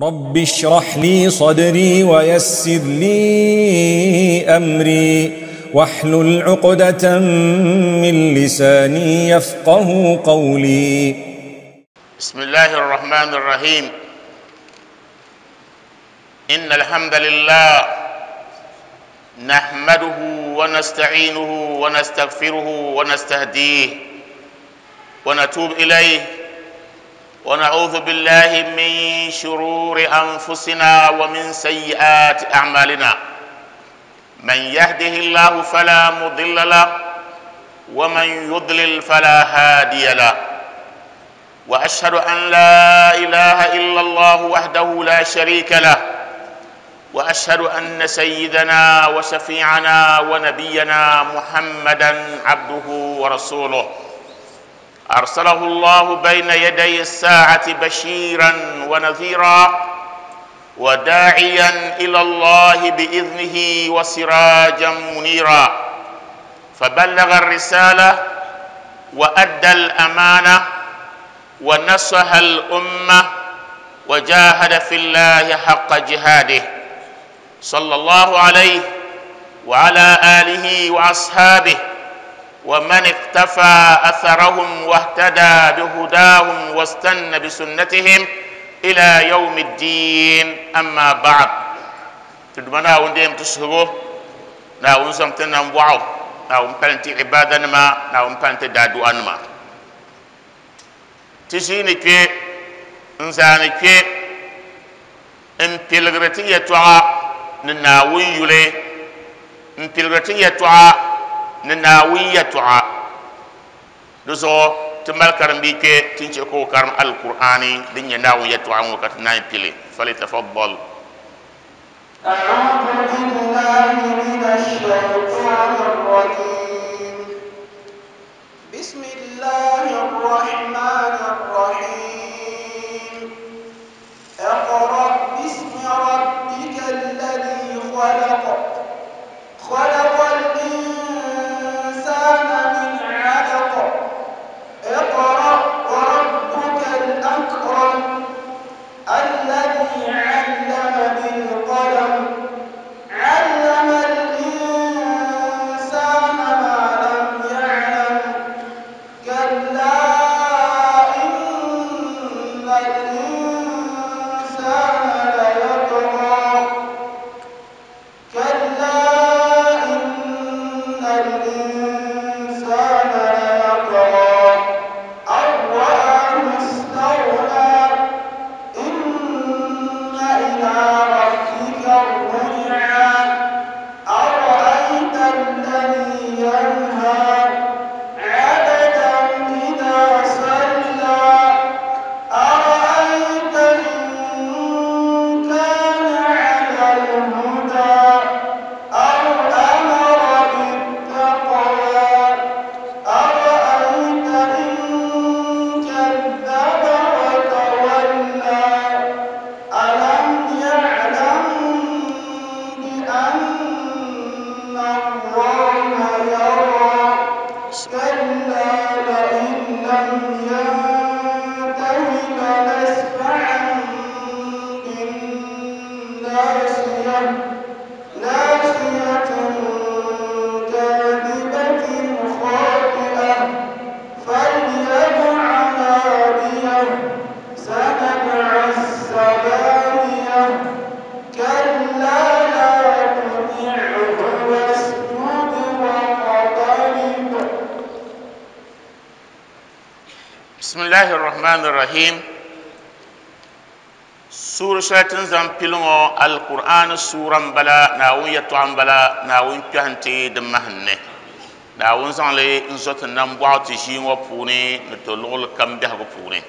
رب اشرح لي صدري ويسر لي أمري واحلل عقدة من لساني يفقه قولي. بسم الله الرحمن الرحيم. إن الحمد لله نحمده ونستعينه ونستغفره ونستهديه ونتوب إليه، ونعوذ بالله من شرور أنفسنا ومن سيئات أعمالنا. من يهده الله فلا مضل له ومن يضلل فلا هادي له، وأشهد أن لا إله إلا الله وحده لا شريك له، وأشهد أن سيدنا وشفيعنا ونبينا محمدا عبده ورسوله، أرسله الله بين يدي الساعة بشيرا ونذيرا وداعيا إلى الله بإذنه وسراجا منيرا، فبلغ الرسالة وأدى الأمانة ونصح الأمة وجاهد في الله حق جهاده، صلى الله عليه وعلى آله وأصحابه ومن اقتفى أثرهم واهتدى بهداهم واستنى بسنتهم إلى يوم الدين. أما بعد، تدمنا وندم تسهبو نا ونسمتنا نبوعو نا ونبالنتي عبادة نما نا ونبالنتي دادو أنما تشيني كي انساني كي ان تلغرتي يتوعى نناوي يولي ان تلغرتي يتوعى نناوي يتوعى دزو تمال كرم بيكي تنشكو كرم القرآني دنيا ناوي يتوعى وكتناي بيلي. فليتفضل. أعوذ بالله من الشيطان الرجيم. بسم الله الرحمن الرحيم. اقرأ باسم ربك الذي خلق، خلق الإنسان من علق، اقرأ وربك الأكرم الذي علم بالقلم، علم الإنسان ما لم يعلم، كلا إن الإنسان ليطغى، كلا إن الإنسان ليطغى أن رآه استغنى، إن إلى ربك الرجعى، أرأيت الذي ينهى عبدا إذا صلى، أرأيت إن كان على الهدى أو أمر بالتقوى، أرأيت إن كذب وتولى، ألم يعلم بأن الله يرى، كلا لئن لم ينته لنسفعا بالناصية، ناصية كاذبة خاطئة، فليدع ناديه، سندع الزبانية، كلا لا تطعه واسجد واقترب. بسم الله الرحمن الرحيم. سورة شاتن زم بلغو القرآن سورة بلا ناون يتوان بلا ناون كهنتي دمهن ناون زانلي نزوت نمبوع تشين وبوني نتلول كم ده وبوني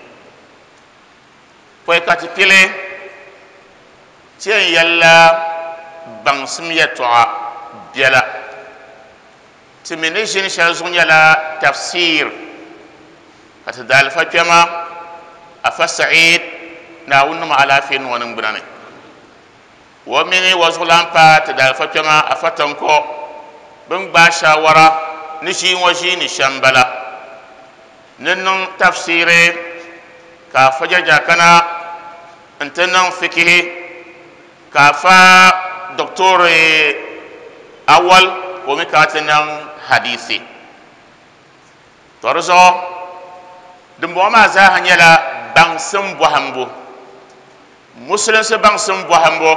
فيكاتي بيلي تين يلا بانسم يتوع بيلا تمني جين شالزون يلا تفسير كتدال فكما أفسعيد ناون ما على فين ونبراني ومني وزغلان با تدال فكما أفتنكو بن باشا ورا نشي وشي نشامبلا ننن تفسيري كافجا جاكنا N ti niŋ fikihi ka afa Doctor Awal ka o mi kana ti niŋ hadisi. To di zuɣu dimbɔŋɔ maa zaaha nyɛla baŋsim bɔhimbu, musulinsi baŋsim bɔhimbu,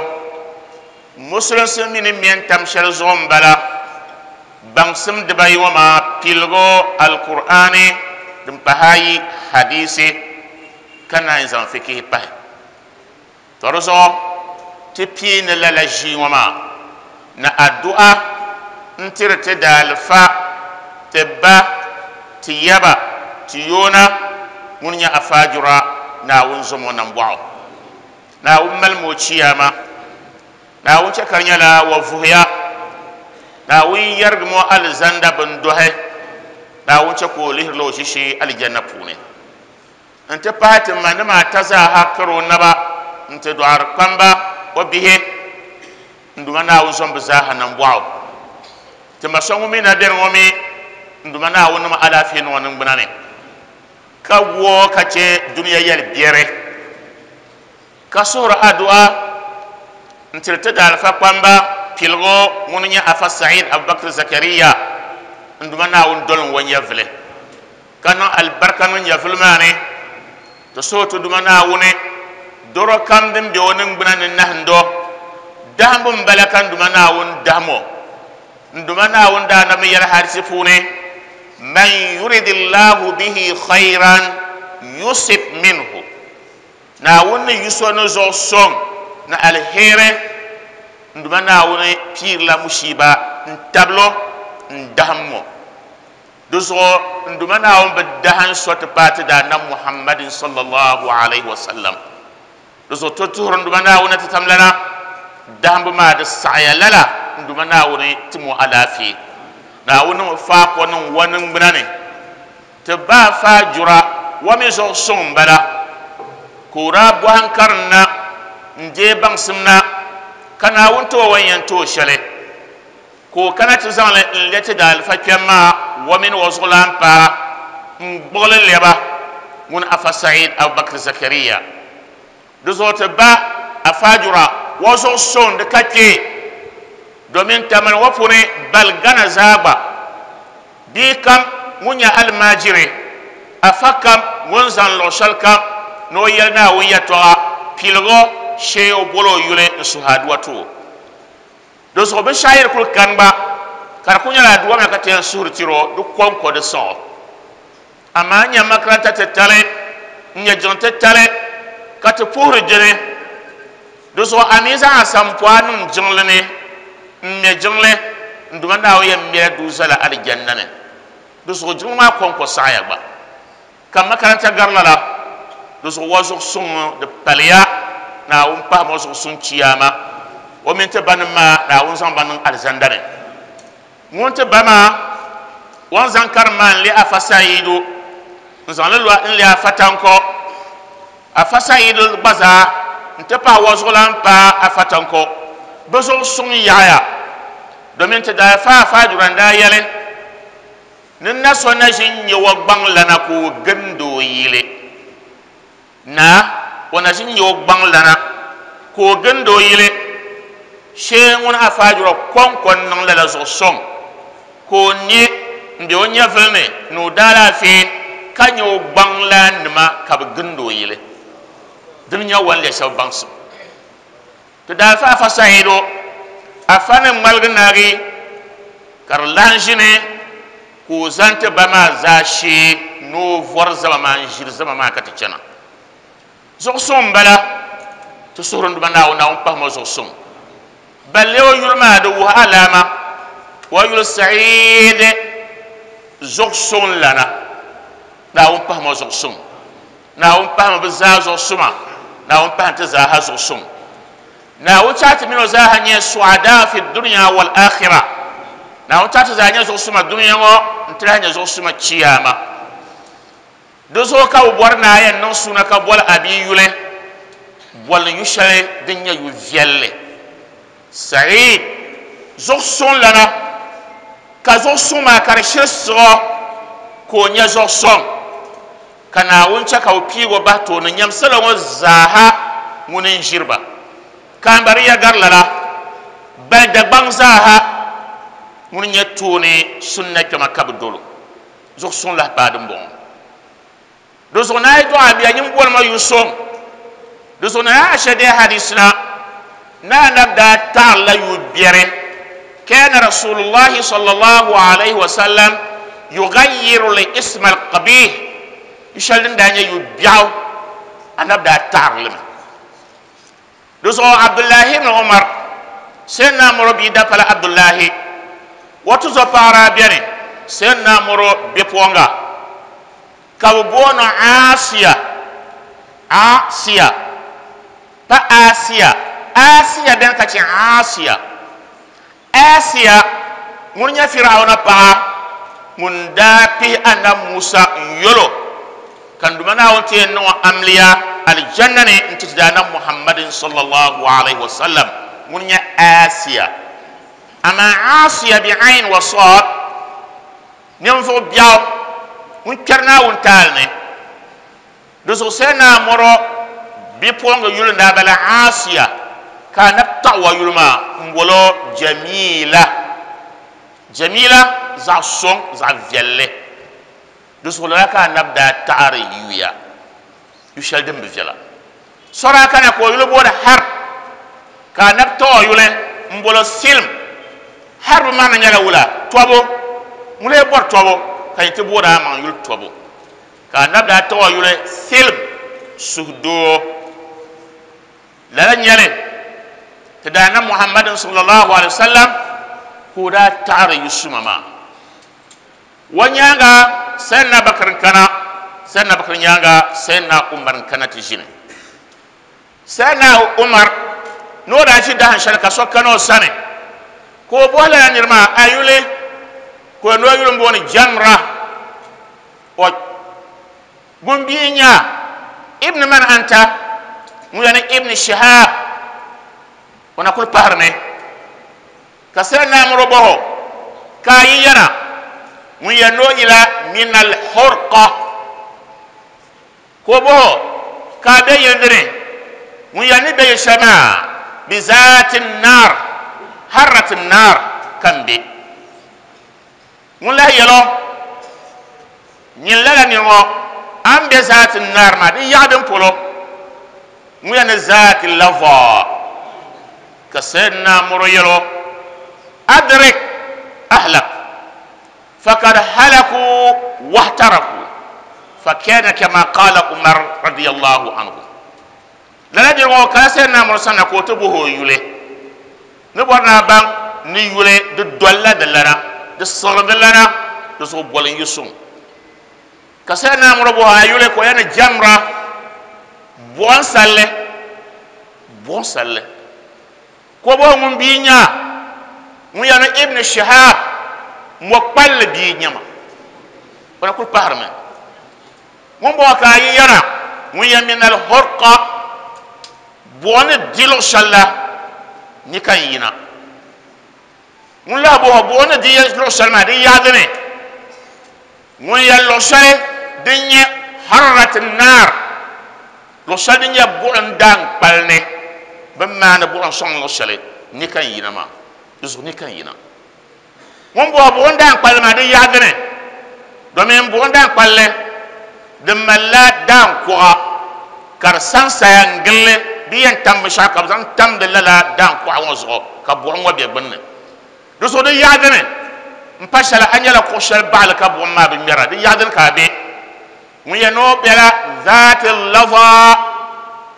musulinsi mi ni mɛ n-tam shɛli zuɣu m-bala, baŋsim dibayi ŋɔ maa piligu Alkur'aani din pahi ayi hadisi ka naan zaŋ fikihi pahi. To di zuɣu ti piini lala ʒii ŋɔ maa ni adu'a n-tiri ti daalifa, ti ba, ti yaba, ti yoona ŋun nyɛ Afaajura Naawuni zom o nambɔɣu. Naawuni malimi o chiyaama. Naawuni chɛ ka di nyɛla wa vuhiya. Naawuni yɛrigimi o alizanda bindohi. Naawuni chɛ ka o lihirila o ʒishee alijanna puuni. Nti pahi ti manima ata zaaha kari o naba nti dɔɣiri kpamba o bihi n Duuma Naawuni zom bɛ zaaha nambɔɣu. Ti ma so ŋun mi na beni ŋɔ mi n Duuma Naawuni niŋ alaafee niŋ o niŋgbuna ni ka gu o ka chɛ dunia yɛli biɛri ka suhiri adua n-tiri ti daalifa kpamba piligu ŋun nyɛ Afa Saeed Abubakar Zakaria n Duuma Naawuni dolim o nyɛvili. Ka niŋ alibarika niŋ nyɛvili maa ni, ti suhi ti Duuma Naawuni dɔro kam din be o niŋgbuna ni nahindo. Dahimbu m-bala ka n Duuma Naawuni dahim o. N Duuma Naawuni daa na mi yɛli hadisi puuni, Man yuridillahu bihi khayran yusib minhu. Naawuni ni yu so ni zuɣu sɔŋ ni aliheri, n Duuma Naawuni piirila mushiiba n-tabili o n-dahim o. Di zuɣu n Duuma Naawuni bi dahin so ti paai ti Daanab Muhammadin sallallahu alaihi wasallam. Di zuɣu ti tuhiri n Duuma Naawuni ni ti tamlana dahimbu maa di saɣiya lala n Duuma Naawuni tim o alaafee. Naawuni niŋ o faako niŋ wa niŋgbuna ni. Ti ba faajura wa mi zuɣu suŋ m-bala ka o daa bɔhi n karim na n-deei baŋsim na ka Naawuni ti o o ni yɛn ti o shɛli. Ka o kana ti zaŋ li n-le ti daalifa kpɛm maa o mini o zuɣulaanpaa n-gbuɣi li lɛba ŋun Afa Saeed Abubakar Zakaria. Di zuɣu ti ba Afajura o zuɣu suŋ di ka kpee domin Tamale ŋɔ puuni bali Ghana zaa gba bia kam ŋun nyɛ alimaajiri, afa kam ŋun zaŋ luɣ shɛli kam ni o yɛli Naawuni yɛtɔɣa piligu shee o boli o yuli n-suhi aduwa ti o. Di zuɣu binshɛɣu yi di kuli kani gba, ka di kuli nyɛla aduwa maa ka ti yɛn suhuri tiri o, di kɔŋko di sɔŋ o. Amaa n nya makaranta titali, n nya jiŋ titali ka ti puhiri dini. Di zuɣu a mi zaŋ a sampɔa niŋ jiŋli ni m-me jiŋli, n Duuma Naawuni yɛn mɛla duu zali alijanna ni. Di zuɣu jiŋli maa kɔŋko saɣiya gba. Ka makaranta gari lala, di zuɣu wa zuɣu suŋ di paliya, Naawuni pahim o zuɣu suŋ chiyaama, o mini ti banim maa Naawuni zaŋ ba niŋ alizanda ni. Ŋun ti ba maa, o ni zaŋ karim maa n-leei Afa Sayidu, n-zaŋ li lɔhi n-leei Afa Tanko. Afa Sayidu gba zaa nti pahi wa zuɣulan paai Afa Tanko. Bɛ zuɣu suŋ yaɣiya, domin ti daa fa Afa Ajura n-daa yɛli, Ni na so na ʒi n-nyɛ o gbaŋlana ka o gindi o yili. Naa, o na ʒi n-nyɛ o gbaŋlana ka o gindi o yili. Shee ŋun Afaajura kɔŋko n-niŋ lala zuɣu sɔŋ ka o ne m-be o nyɛvili ni ni o daalaafee ka nyɛ o gbaŋlaannima ka bɛ gindi o yili. Dini nyɛ o ni lɛbi shɛba baŋsim. Ti daa fa Afa Sayidu, Afa ni ŋmaligi naagi ka di lahi ʒini ka o zani ti ba maa zaashee ni o vɔri zama maa n-ʒiri zama maa ka ti chana. Zuɣusuŋ m-bala, ti suhuri n Duuma Naawuni, Naawuni pahim o zuɣusuŋ. Balle o yuli maa di wuhi alaama, o yuli Sayiid zuɣusuŋ lana, Naawuni pahim o zuɣusuŋ. Naawuni pahimi bɛ zaa zuɣusuma, Naawuni pahim ti zaaha zuɣusum. Naawuni chahi ti mini o zaaha nyɛ su'adaa fi dunya wal akhira. Naawuni chahi ti zaa nyɛ zuɣusuma dunia ŋɔ n-ti lahi nyɛ zuɣusuma chiyaama. Di zuɣu ka bɛ bɔri ni a yɛn niŋ suuna ka boli a bia yuli, boli yu shɛli din nyɛ yu viɛlli. Sa'id, zuɣusuŋ lana, ka zuɣusuŋ maa ka di shiri siɣi o ka o nya zuɣusuŋ, ka Naawuni chɛ ka bɛ piig o bahi tooni nyam salo ŋɔ zaaha Ŋuni n-ʒiri ba. Ka m bari ya gari lala, bali Dagbaŋ zaaha ŋuni nyɛ tooni sunna kpɛma ka bɛ dol o. Zuɣu suŋ lahi paai dimbɔŋɔ. Di zuɣu ni a yi dɔɣi a bia, nyin bolimi o yu suŋ. Di zuɣu ni Aisha deei hadisi na ni Anabi daa taɣirila yu biɛri, Kana Rasulullahi sallallahu alayhi wa sallam yughayyiru al-isma al-qabih, yu shɛli din daa nyɛ yu biɛɣu, Anabi daa taɣiri li mi. Di zuɣu Abdullahi ibn Umar, Sayyidina Muro bia dapala Abdullahi, o tuzɔpaɣa daa beni Sayyidina Muro bipuɣinga ka bɛ booni o Asiya, Asiya, pa Asiya, Asiya beni ka chɛ Asiya. Asiya ŋun nyɛ Firawuna paɣa ŋun daa pihi Annabi Musa n-yol o, ka n Duuma Naawuni ti yɛn niŋ o amiliya alijanna ni n-ti ti Daanab Muhammadin sallallahu alaihi wa sallam ŋun nyɛ Asiya. Amaa Asiya bi ayn wa sad, ninvuɣ biɛɣu ŋun kpɛri Naawuni taali ni. Di zuɣu Sayyidina Mɔrɔ bipuɣiŋga yuli n-daa bala Asiya, ka Anabi taɣi o yuli maa m-bol o Jamila. Jamila, zaɣ suŋ, zaɣ viɛlli. Di zuɣu lala ka Anabi daa taɣiri yuya, yu shɛli din bi viɛla. So daa kana ka o yuli booni Harb, ka Anabi taɣi o yuli m-bol o Silm. Harb maa mi nyɛla wula? Tɔbu. Ŋun lee bɔri tɔbu ka yi ti booni a maŋ yuli tɔbu. Ka Anabi daa taɣi o yuli Silm, suhudoo. Lala n-nyɛ li, ti Daanab Muhammadin sallallahu alaihi wasallam ka o daa taɣiri yu suma maa. O nyaaŋa Sayyidina Bakr n-kana, Sayyidina Bakr nyaaŋa Sayyidina Umar n-kana ti ʒini. Sayyidina Umar ni o daa ʒi dahin shɛli ka so kana o sani ka o bɔhi lala niri maa, A yuli? Ka o ni o yuli m-booni Jamra. O ŋun bia n-nyɛ a, Ibn man anta? Ŋun yɛli ni Ibn Shihab. O na kuli pahirimi ka Sayyidina Amr bɔh o, Ka a yi yɛna? Ŋun yɛli ni o yila min al-hurqa. Ka o bɔh o, Ka a be yili dini? Ŋun yɛli ni be yili shɛli maa, bi zaati n-naar, harrati n-naar ka m be. Ŋun lahi yɛl o, Nyin lala nir ŋɔ, a ni be zaati n-naar maa, di yaɣi din polo? Ŋun yɛli ni zaati lavɔɔ. Ka Sayyidina Muro yɛl o, Adrik ahlak, fakad halaku wahtaraku, fakana kama qala Umar radiyallahu anhu. Lala nir ŋɔ kala Sayyidina Muro sanna ka o ti bɔhi o yuli. Ni bɔri ni a baŋ ni yuli di dolila di lana, di siɣiri di lana, di zuɣu boli n-yi suŋ. Ka Sayyidina Amr bɔhi a yuli ka o yɛli ni Jamra, buɣim salli, buɣim salli. Ka o bɔhi ŋun bia n-nyɛ a? Ŋun yɛli ni Ibn Shihab, mɔkpalli bia n-nyɛ ma. O na kuli pahirimi. Ŋun bɔŋɔ ka a yi yɛra, ŋun yɛn min al-hurqa, buɣa ni di luɣ shɛli la ni ka n yina. Ŋun lahi bɔŋɔ buɣa ni di luɣ shɛli maa di yaɣi dini? Ŋun yɛn luɣ shɛli din nyɛ hararati naar, luɣ shɛli din nyɛ buɣim daaŋkpali ni bɛ ni maani buɣim sɔŋ luɣ shɛli ni ka n yina maa, di zuɣu ni ka n yina. Ŋun bɔhi buɣim daaŋkpalli maa di yaɣi dini? Domin buɣim daaŋkpalli di malila daaŋkuɣa ka di sansaya n-gili li di yɛn tam binshɛɣu ka bɛ zaŋ tamdi lala daaŋkuɣa ŋɔ zuɣu ka buɣim ŋɔ be gbunni. Di zuɣu di yaɣi dini m-pa shɛli a nyɛla kuɣ shɛli baɣili ka buɣim maa bi ŋmɛra di yaɣi dini ka a be? Ŋun yɛn ni o bela zaati lava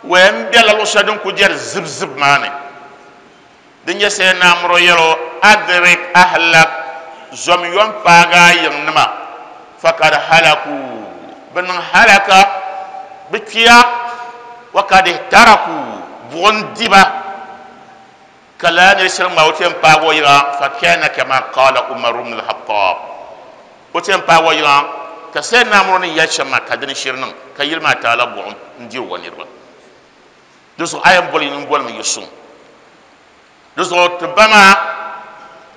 waya m-bela luɣ shɛli din kuli jɛri zibzib maa ni. Din nyɛ Sayyidina Amr yɛl o, Adrik ahlak, zom yom paagi a yiŋnima, fakad halaku, bɛ niŋ halaka, bɛ kpiya, wa kad ihtaraku, buɣim di ba, ka lala nir shiri ŋma o ti yɛn paagi o yiŋa, fakana kama qala Umar ibn al-Khattab, o ti yɛn paagi o yiŋa ka Sayyidina Amr ni yɛli shɛm maa ka dini shiri niŋ, ka yili maa taala buɣim n-diri o niriba. Di zuɣu a yɛn boli yin bolimi yi suŋ. Di zuɣu ti ba maa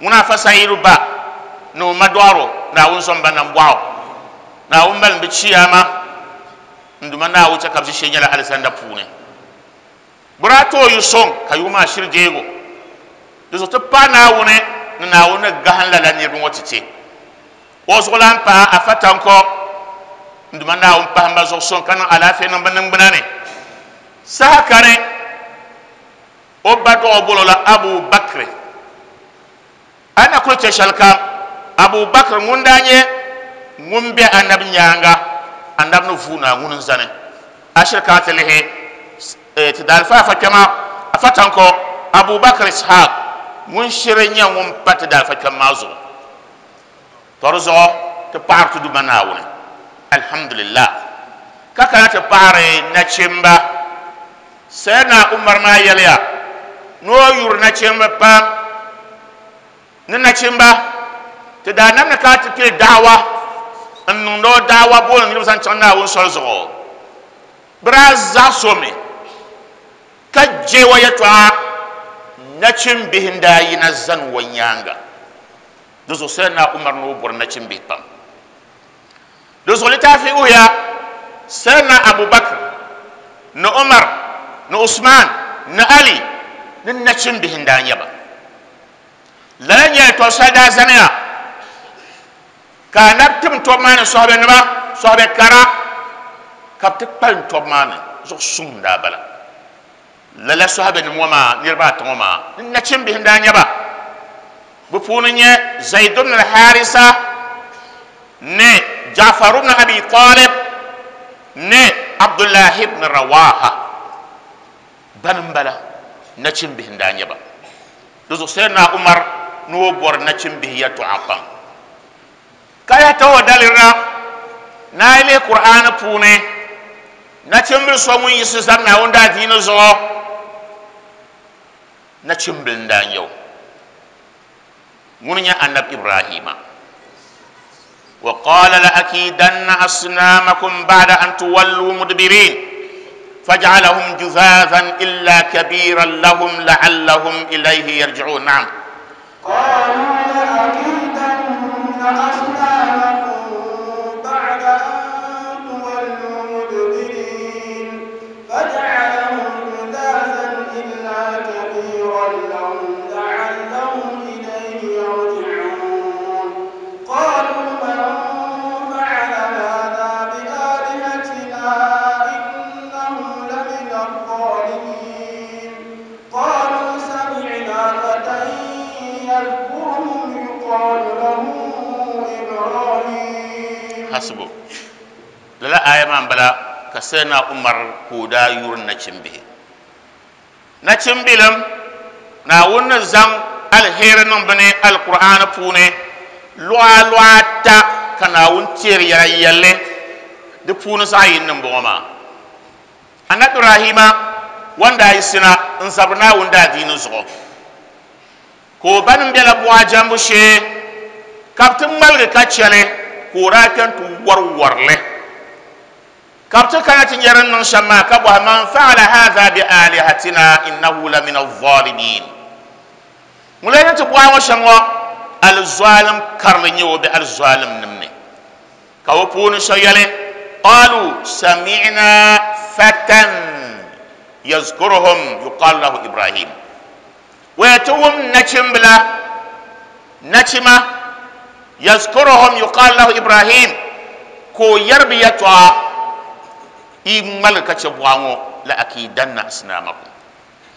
ŋuna Afa Sayidu ba ni o ma dɔɣiro Naawuni zom ba nambɔɣu. Naawuni mali m bi chiyaama n Duuma Naawuni chɛ ka bɛ ʒishee nyɛla alizanda puuni. Bɛ daa ti o yu sɔŋ ka yuɣu maa shiri deeg o. Di zuɣu ti paɣi Naawuni ni Naawuni ni gahim lala niriba ŋɔ ti ti. O zuɣulan paɣa Afa Tanko n Duuma Naawuni pahim ba zuɣu sɔŋ ka niŋ alaafee niŋ bɛ niŋgbuna ni. Saha kani o ba dɔɣi o boli o la Abu Bakri. A ni na kuli chɛ shɛli kam, Abu Bakr ŋun daa nyɛ ŋun be Anabi nyaaŋa, Anabi ni vuui na ŋuni n-zani ashiri ka a ti lihi ti daalifa afa kpɛma, Afa Tanko, Abu Bakr Ishaq ŋun shiri nyɛ ŋun pa ti daalifa kpɛm maa zuɣu. Tɔ di zuɣu ti paɣiri ti Duuma Naawuni, Alhamdulillah, ka kana ti paɣiri nachimba. Sayyidina Umar maa yɛliya ni o yuri nachimba pam ni nachimba ti daa nam ni ka ti pili da'awa n niŋdi o da'awa booni niriba zaŋ chaŋ Naawuni soli zuɣu. Bɛ daa zaɣisi o mi ka je o yɛtɔɣa. Nachimbihi n daa yina zani o nyaaŋa. Di zuɣu Sayyidina Umar ni o bɔri nachimbihi pam. Di zuɣu litaafi wuhiya Sayyidina Abu Bakr ni Umar ni Usman ni Ali ni nachimbihi n-daa nyɛ ba. Lala nyɛla tɔbu shɛli daa zaniya ka Anabi tim tɔbu maa ni sɔhibenima, sɔhibe kara, ka bɛ ti kpalim tɔbu maa ni, zuɣu suŋ n-daa bala. Lala sɔhibenima ŋɔ maa niriba ata ŋɔ maa ni nachimbihi n-daa nyɛ ba. Bɛ puuni n-nyɛ Zaid ibn al-Harisa ni Ja'far ibn Abi Talib ni Abdullah ibn Rawaha. Bani m-bala, nachimbihi n-daa nyɛ ba. Di zuɣu Sayyidina Umar ni o bɔri nachimbihi yɛltɔɣa pam. Ka yaha tahi o daliri na ni a yi lihi Kur'aani puuni, nachimbili so ŋun yiɣisi zani Naawuni daadiini zuɣu, nachimbili n-daa nyɛ o. Ŋuni n-nyɛ Annabi Ibrahima. Wa qala la akidanna asnamakum ba'da an tuwallu mudbirin faj'alahum juzazan illa kabiran lahum la'allahum ilayhi yarji'un. Na'am. قالوا لأكيدن أصنامكم بعد أن تولوا مدبرين فجعلهم جذاذا إلا كبيرا لهم لعلهم إليه يرجعون قالوا من فعل هذا بآلهتنا إنه لمن الظالمين قالوا سمعنا فتى يذكرهم يقال له إبراهيم. Hasibu lala aya maa m-bala ka Sayyidina Umar ka o daa yuri nachimbihi. Nachimbilim, Naawuni ni zaŋ aliheri niŋ bɛ ni Alkur'aani puuni luɣa luɣa ata ka Naawuni teeri yɛla yɛlli di puuni zaɣ yini m-bɔŋɔ maa. Anabi Ibrahima wan daa yiɣisina n-zabiri Naawuni daadiini zuɣu, ka o banim bela buɣa jɛmbu shee, ka bɛ ti ŋmaligi ka chɛ li, ka o daa kpe nti wari wari li. Ka bɛ ti kana ti nya din niŋ shɛm maa, ka bɔhi, Man fa'ala haadha bi aalihatina innahu la min al-zalimin. Ŋun lee ni ti buɣa ŋɔ shɛm ŋɔ, alizɔalim karili n-nyɛ o bɛ alizɔalimnim ni. Ka bɛ puuni so yɛli, Qalu sami'na fatan yazkuruhum yuqalu lahu Ibrahim. Waya ti wum nachimbila, nachima, yazkuruhum yuqalu lahu Ibrahim, ka o yɛri bɛ yɛtɔɣa, Yi ŋmaligi ka chɛ buɣa ŋɔ, la akidanna asnamakum.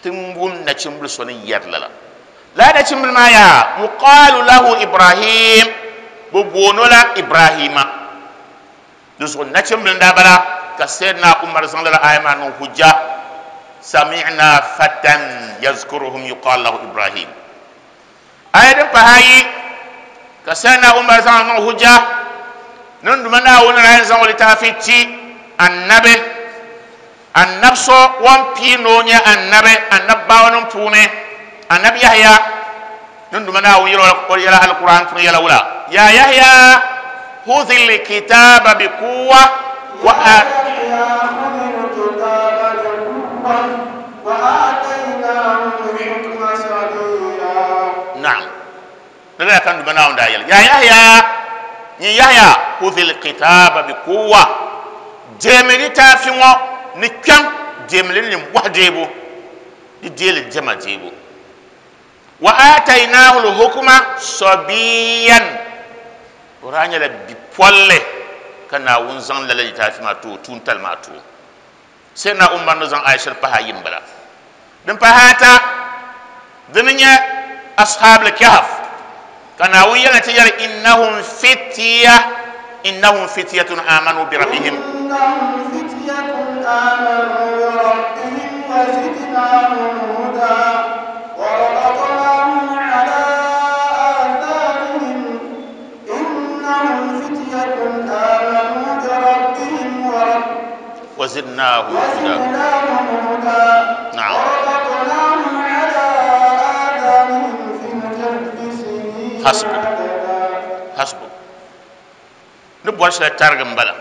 Ti wum nachimbili so ni yɛri lala. Lala nachimbili maa yaa, yuqaalu lahu Ibrahim, bɛ booni o la Ibrahima. Di zuɣu nachimbili n-daa bala ka Sayyidina Umar zaŋ lala aaya maa niŋ hujja, Sami'na fatan yazkuruhum yuqaalu lahu Ibrahim. Aaya din pahi ayi ka Sayyidina Umar zaŋ niŋ hujja, ni n Duuma Naawuni daa yɛn zaŋ o litaafi ti Annabi, Annabi so o ni pii ni o nyɛ Annabi, Annabawanim puuni, Annabi Yahya, ni n Duuma Naawuni yɛl o yɛla Alkur'aan puuni yɛla wula, Ya Yahya, khudhil kitaaba bi quwwa wa Ya Yahya, khudhil kitaaba bi quwwa wa aataynaahu l-hukma sabiyya. Naam. Ni lala ka n Duuma Naawuni daa yɛli, Ya Yahya, nyin Yahya, khudhil kitaaba bi quwwa, deemi litaafi ŋɔ ni kpiɔŋ, deemi li ni nimbɔhi deebu. Di deeli diɛma deebu. Wa aatainaahu lhukma sabiyan, o daa nyɛla bipolli ka Naawuni zaŋ lala litaafi maa ti o, tuuntali maa ti o. Sayyidina Umar ni zaŋ aya shɛli pahi ayi m-bala. Din pahi ata, dini nyɛ Ashaab al-Kahf, ka Naawuni yɛli ti yɛli innahum fitiya, innahum fitiyatun amanu bi rabbihim. Innahum fityatun amanu bi rabbihim wa zidnahum huda wa rabatnahum ala atharihim innahum fityatun amanu bi rabbihim wa rabbihim wa zidnahum huda. وزدناهم هدى نعم. وربطناهم على آذانهم في الكهف سنين حسبك. عددا. Hasbu ni bɔri shɛli tarigi n bala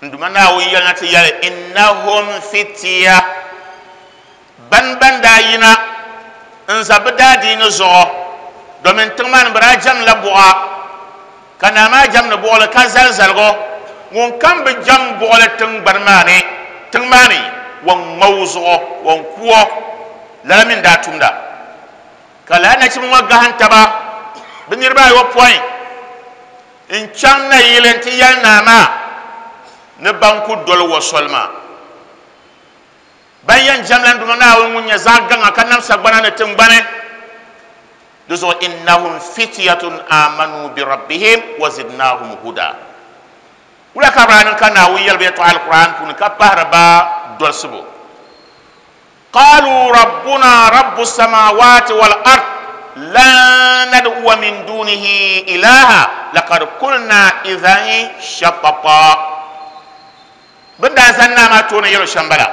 n duma Naawuni yɛli na ti yɛli innahum fitiya, ban ban daa yina n za bi daadiini zuɣu, domin tiŋ maa ni bi daa jɛmla buɣa, ka naa maa jɛmdi buɣuli ka zali zaligu, ŋun kam bi jɛm buɣuli tiŋgbani maa ni, tiŋ maa ni wan ŋma o zuɣu, wan ku o. Lala mi n daa tumda ka lala nachimba ŋɔ gahim taba bɛ niriba ayopɔin n chaŋ nayili nti yɛli naa maa ni ban ku doli o soli maa, ban yɛn jɛmla n Duuma Naawuni ŋun nyɛ zaɣ gaŋa ka nam sagbana ni tiŋgbani. Di zuɣu innahum fityatun amanu bi rabbihim wa zidnahum huda. Wula ka bɛ daa niŋ ka Naawuni yɛli ba yɛtɔɣa Alkur'aan puuni ka pahiri ba dolsibu? Qalu rabbuna rabbu samawati wal ard lan nad'uwa min dunihi ilaha laqad qulna idhan shatata. Bɛ ni daa zani naa maa tooni yɛl o shɛm bala,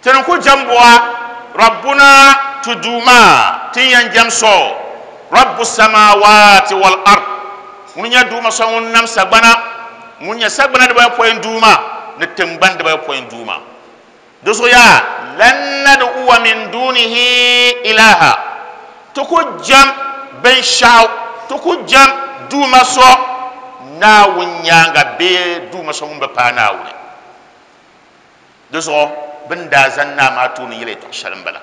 ti ni ku jɛm buɣa, rabbuna ti Duuma, ti ni yɛn jɛm so, rabbu samawati wal ard, ŋuni nyɛ Duuma so ŋun nam sagbana, ŋun nyɛ sagbana dibayopɔin Duuma ni tiŋgbani dibayopɔin Duuma. Di zuɣu yaa, lan nad'uwa min dunihi ilaha, ti ku jɛm binshɛɣu, ti ku jɛm Duuma so Naawuni nyaaŋa bee Duuma so ŋun bi paai Naawuni. Di zuɣu bɛ ni daa zani naa maa tooni yɛli yɛtɔɣ shɛli m-bala.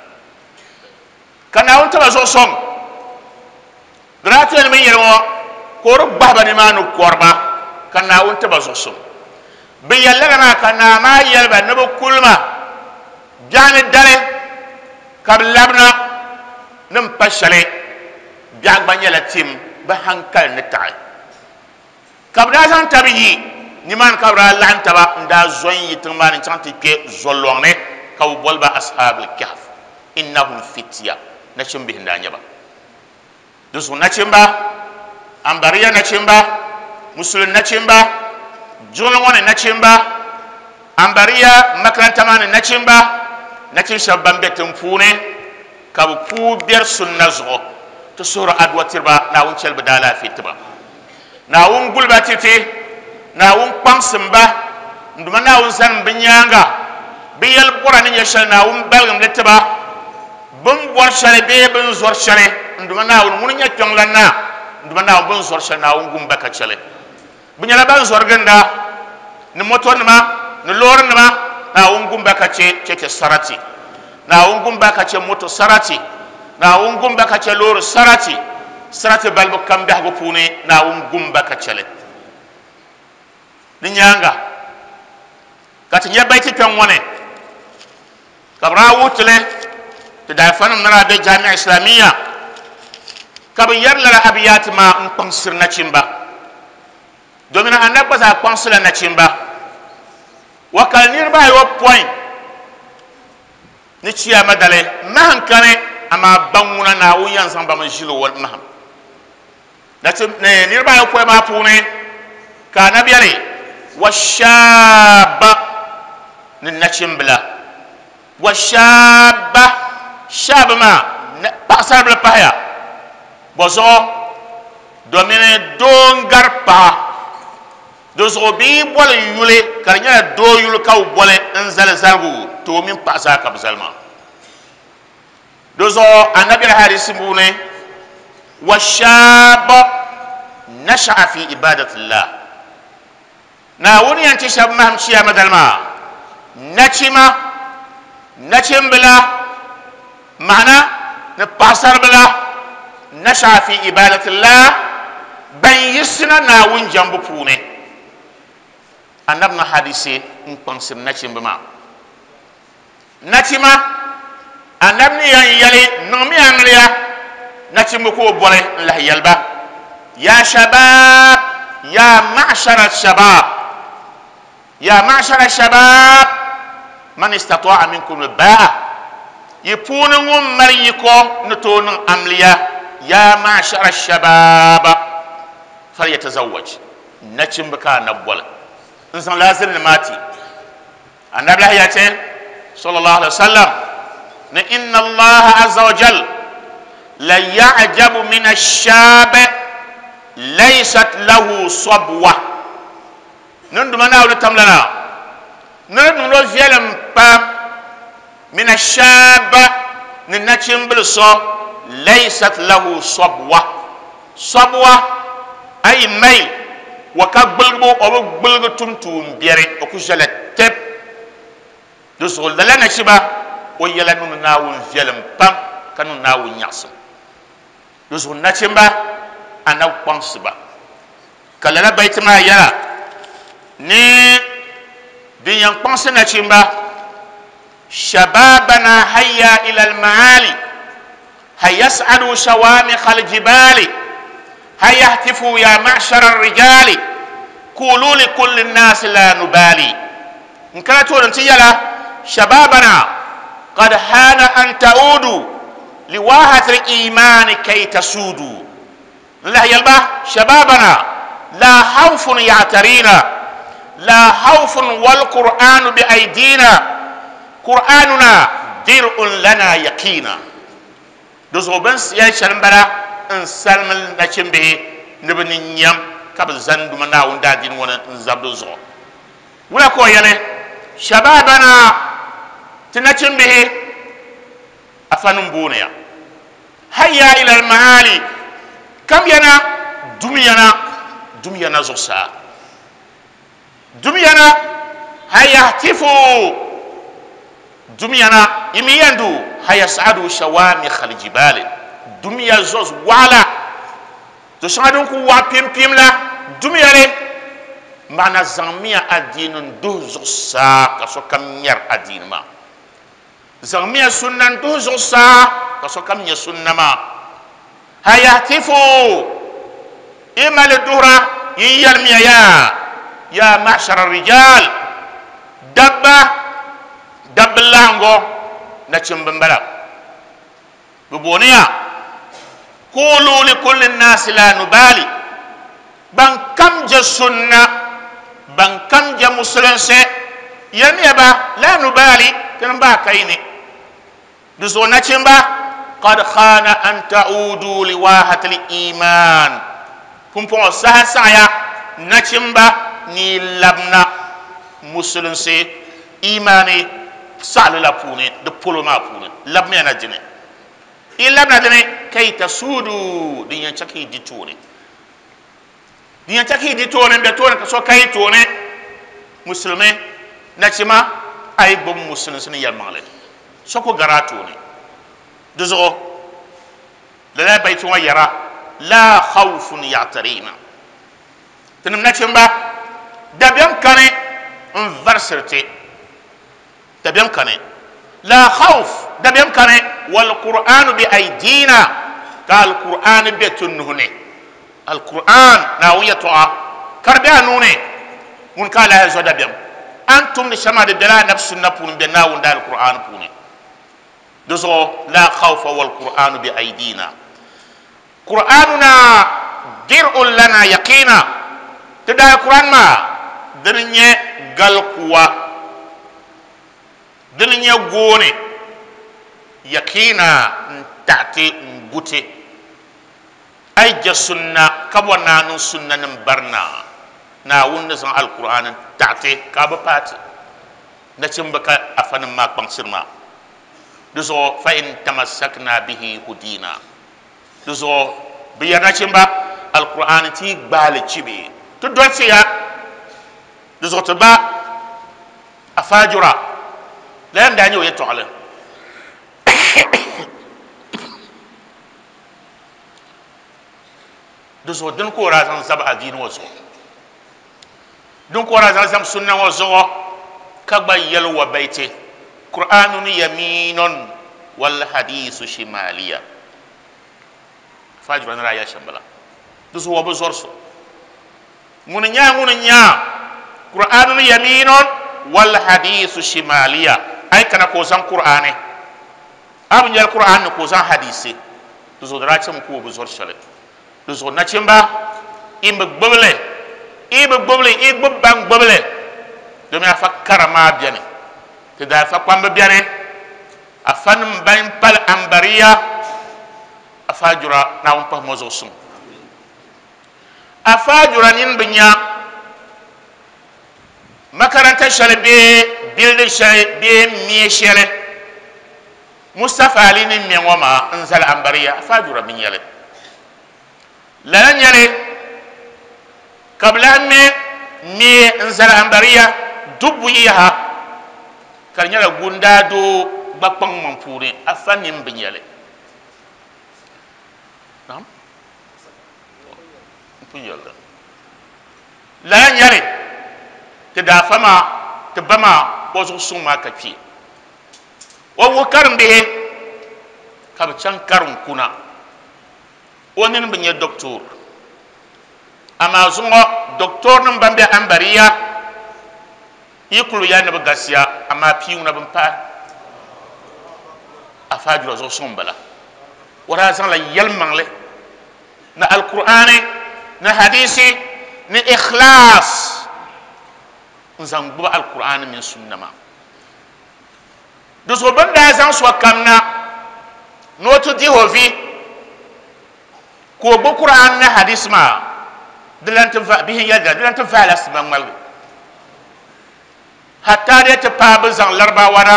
Ka Naawuni ti ba zuɣu sɔŋ. Di daa ti yɛli mi yɛli ŋɔ ka o di gbahi ba nimaani kɔri ba, ka Naawuni ti ba zuɣu sɔŋ. Bɛ yɛli lala maa ka naa maa yɛli ba ni bɛ kuli ma biɛɣuni dali ka bɛ labina ni m-pa shɛli, biɛɣu gba nyɛla tim bɛ haŋkali ni taɣi. Ka bɛ daa zaŋ taba yi nimaani, ka bɛ daa laɣim taba n-daa zo n-yi tiŋ maa ni n-chaŋ ti kpe zolɔŋ ni, ka bɛ boli ba Ashaabul Kahf, innahum fitya, nachimbihi n-daa nyɛ ba. Di zuɣu nachimba, Ambariya nachimba, Musulin nachimba, jiŋli ŋɔ ni nachimba, Ambariya makaranta maa ni nachimba, nachin shɛba ban be tiŋ puuni ka bɛ puu beri sunna zuɣu, ti suhiri adua tiri ba, Naawuni chɛli bɛ daalaafee ti ba. Naawuni guli ba ti ti, Naawuni kpaŋsim ba, n Duuma Naawuni zanim bɛ nyaaŋa, bɛ yɛli bɔra ni nyɛ shɛli Naawuni baligim li ti ba, bɛ ni bɔri shɛli bee bɛ ni zɔri shɛli, n Duuma Naawuni ŋuni nyɛ kpiɔŋlan naa, n Duuma Naawuni bɛ ni zɔri shɛli Naawuni gum ba ka chɛ li. Bɛ nyɛla ban zɔri ginda ni motonima ni loorinima, Naawuni gum ba ka chɛ chɛchɛ sarati, Naawuni gum ba ka chɛ moto sarati, Naawuni gum ba ka chɛ loori sarati, sarati balibu kam biɛhigu puuni Naawuni gum ba ka chɛ li. Di nyaaŋa ka ti nya baiti kpɛŋ ŋɔ ni ka bɛ daa wuhi ti li ti daalifanim ni daa be Jami'a Islamiyya ka bɛ yɛri lala abiyaati maa n-kpaŋsiri nachimba, domina Annabi gba zaa kpaŋsila nachimba. Wakali niriba ayopɔin ni chiyaama dali mahim kani, amaa ban ŋuna Naawuni yɛn zaŋ ba mi ʒili o mahim. Niriba ayopɔin maa puuni ka Anabi yɛli, wa shaaba ni nachimbila, wa shaaba, shaaba maa paɣasaribila pahaya, bɔzuɣu domini doo n-gari paɣa, di zuɣu bɛ yi boli yuli ka di nyɛla doo yuli ka bɛ boli n-zali zaligu ti o mini paɣa zaa ka bɛ zali maa. Di zuɣu Anabi yɛli hadisi puuni, wa shaaba nasha'a fi ibadatillah, Naawuni yɛn ti shɛba mahim chiyaama dali maa, nachima, nachimbila Ma'ana ni paɣasaribila nasha'a fi ibadatillah ban yiɣisina Naawuni jɛmbu puuni. Anabi ni hadisi n kpaŋsiri nachimba maa. Nachima, Anabi ni yɛn yɛli niŋmi amiliya, nachimba ka o boli n lahi yɛli ba, Ya shabab, ya ma'shara shabab, ya ma'shara shabab, man istata'a minkum al-ba'a, yi puuni ŋun mali yiko ni tooi niŋ amiliya, ya ma'shara shabab, falyatazawwaj, nachimba ka Anabi boli n zaŋ laaziri maa ti. Anabi lahi yace sallallahu alaihi wasallam ni inna Allaha azza wa jal la ya'jabu min ash-shab laysat lahu sabwa. Nin duma Naawuni tamlana ni di niŋdo viɛlim pam min ash-shab ni nachimbili so laysat lahu sabwa. Sabwa ayi mai wa ka gbuligibu o bi gbuligi tum tuun biɛri o ku ʒɛla tɛp di zuɣu. Lala nachiba o yɛla niŋdi Naawuni viɛlim pam ka niŋ Naawuni nyaɣisim di zuɣu. Nachimba anabi kpaŋsi ba ka lala baiti maa yɛla ni din yɛn kpaŋsi nachimba shababana hayya ila al-maali hayas'alu shawamikh al-jibali hayahtifu ya ma'shara ar-rijali qulu li kulli an-nas la nubali. In kana tooni ti yɛla shababana qad hana an ta'udu liwahati al-iman kay tasudu. N lahi yɛli ba shababana la khawfun ya'tarina la khawfun wal qur'anu bi aydina qur'anuna dir'un lana yaqina. Di zuɣu bin yɛli shɛli n bala n salimi nachimbihi ni bi ni nyam ka bi zani duma Naawuni daadiini ŋɔ ni n zabi di zuɣu. Wula ka o yɛli shababana ti nachimbihi afa nim booni ya hayya ila al-maali kam yana dum yana dum yana zuɣusaa dum yana hayahtifu dum yana imiyandu hayas'adu shawamikh al-jibali dum ya zoz waɣala to shɛŋa din ku waɣa pim pim la dum ya li maana zaŋmiya adiini n duhi zuɣusaa ka sokam nyɛri adiini maa, zaŋmiya sunna n duhi zuɣusaa ka sokam nyɛ sunna maa. Hayahtifu imali duhura yin yɛlimiya ya ya ma'shara rijal dabba dabba laɣingu nachimba n bala bi booniya qulu li kulli nnaasi la nubali ban kam je sunna ban kam je musulinsi yɛlimiya ba la nubali tini baa ka yi ni di zuɣu nachimba qad khana an ta'udu liwahati al-iman pumpɔŋɔ saha saɣaya nachimba ni labina musulinsi imani saɣali la puuni di polo maa puuni labimiya na dini i labina dini kay tasudu din yɛn chɛ ka yi di tooni din yɛn chɛ ka yi di tooni n bɛ tooni ka so ka yi tooni musulimi nachima a yi gbubi musulinsi ni yɛlimaŋli so ku gari a tooni di zuɣu lala baiti ŋɔ yɛra la khawfun ya'tarina tinim nachimba dabiɛm kani n varisiri ti dabiɛm kani la khawf dabiɛm kani wal qur'anu bi aydina ka al qur'an be ti nuhi ni al qur'an Naawuni yɛltɔɣa ka di be a nuu ni ŋun ka a lahi zo dabiɛm an tumdi shɛm maa di bela anabi sunna puuni n be Naawuni da al qur'an puuni di zuɣu la khawfa wal qur'anu bi aydina qur'anuna dir'un lana yaqina ti daa qur'an maa dini nyɛ galikuwa dini nyɛ gooni yaqina n taɣati n guti a yi je sunna ka bɔ naa niŋ sunna nim barina Naawuni ni zaŋ alqur'an n taɣati ka a bi paati nachimba ka afa nim maa kpaŋsiri maa di zuɣu fa in tamassakna bihi hudina di zuɣu bi yɛri nachimba alqur'an ti gbaali chibi ti dolisi ya di zuɣu ti ba afaajura la yɛn daa nyɛ o yɛltɔɣali Di zuɣu dini ka o daa zaŋ zabi adiini ŋɔ zuɣu, din ka o daa zaŋ zabi sunna ŋɔ zuɣu, ka gba yɛli wa baiti Qur'anun yaminun wal hadisu shimaliya. Fajira ni daa yɛli shɛm bala. Di zuɣu o bi zɔri so. Ŋuni nya ŋuni nya Qur'anun yaminun wal hadisu shimaliya. Ai kana ka o zaŋ Qur'ani. A bi nyɛli Qur'an ni ka o zaŋ hadisi. Di zuɣu di daa chɛmi ka o bi zɔri shɛli. Di zuɣu nachimba i bi gbubili, i bi gbubili, i gbubi ban gbubili. Domi afa kara maa bɛni, ti daa afa kpambi bɛni, afa nim ban pali ambariya, afa jura Naawuni pahi mo zuɣu suŋ. Afa jura nini bi nya makaranta shɛli bee bildin shɛli bee mia shɛli Mustapha Ali ni mɛ ŋɔ maa n zali ambariya, afa jura bi nyɛli. Lala nyɛli ka bi lahi mɛ mia n zali ambariya dubbu yaha ka di nyɛla gundaadoo gba kpaŋmaŋ puuni, afa nini bi nyɛli. Naam. N pun yɛli lala nyɛli ti daafa maa ti ba maa o zuɣu suŋ maa ka kpi o wuhi karimbihi ka bi chaŋ karim kuna o nini bi nyɛ doktor amaa zuŋɔ doktor nim ban bɛ ambariya yi kuli yɛli ni bi gasiya amaa pii ŋuna bin pahi afa jura zuɣu suŋ n bala o daa zaŋla yɛlimaŋli ni alkur'aani ni hadisi ni ikhlas n zaŋ gbubi alkur'aani mini sunna maa. Di zuɣu bɛ ni daa zaŋ sokam na ni o ti dihi o vi ka o gbubi Kur'aan ni hadisi maa, di lan ti va, bihi n-yɛli di lan ti vaai la sima ŋmaligi. Hatta di ti paai bɛ zaŋ Laribawa na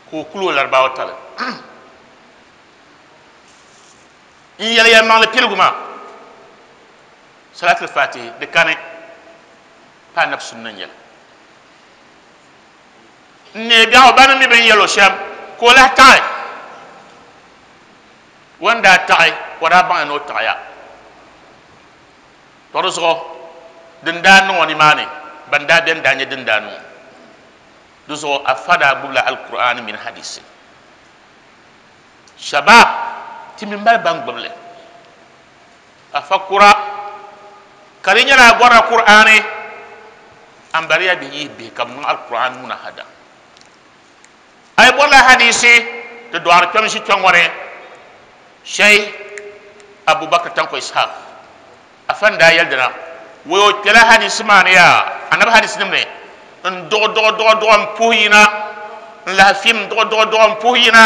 ka o kuli o Laribawa tali. N yɛli yɛlimaŋli piligu maa, Salatul Fatihi di kani pa anabi sunna n-nyɛli. N neei biɛɣu ba ni mi bɛ ni yɛl o shɛm ka o lahi taɣi. O ni daa taɣi, o daa baŋya ni o taɣiya. Tɔ di zuɣu din daa niŋ o nimaani, ban daa beni daa nyɛ din daa niŋ o. Di zuɣu afa daa gbubila Alkur'aani mini hadisi. Shabab, ti mi mali ban gbubi li. Afa kura, ka di nyɛla a bɔrila Kur'aani, ambariya bihi yihi bihi ka bɛ niŋ Alkur'aani munahada. A yi bɔrila hadisi, ti dɔɣiri kpɛm ʒi kpɛ ŋɔ ni, Sheikh Abubakar Tanko Ishaq, afa n-daa yɛli dina, wai o kpɛla hadisi maa ni yaa, anabi hadisinim ni, n duɣi duɣi duɣi duɣi m puhi yina, n lahi fim n duɣi duɣi duɣi m puhi yina,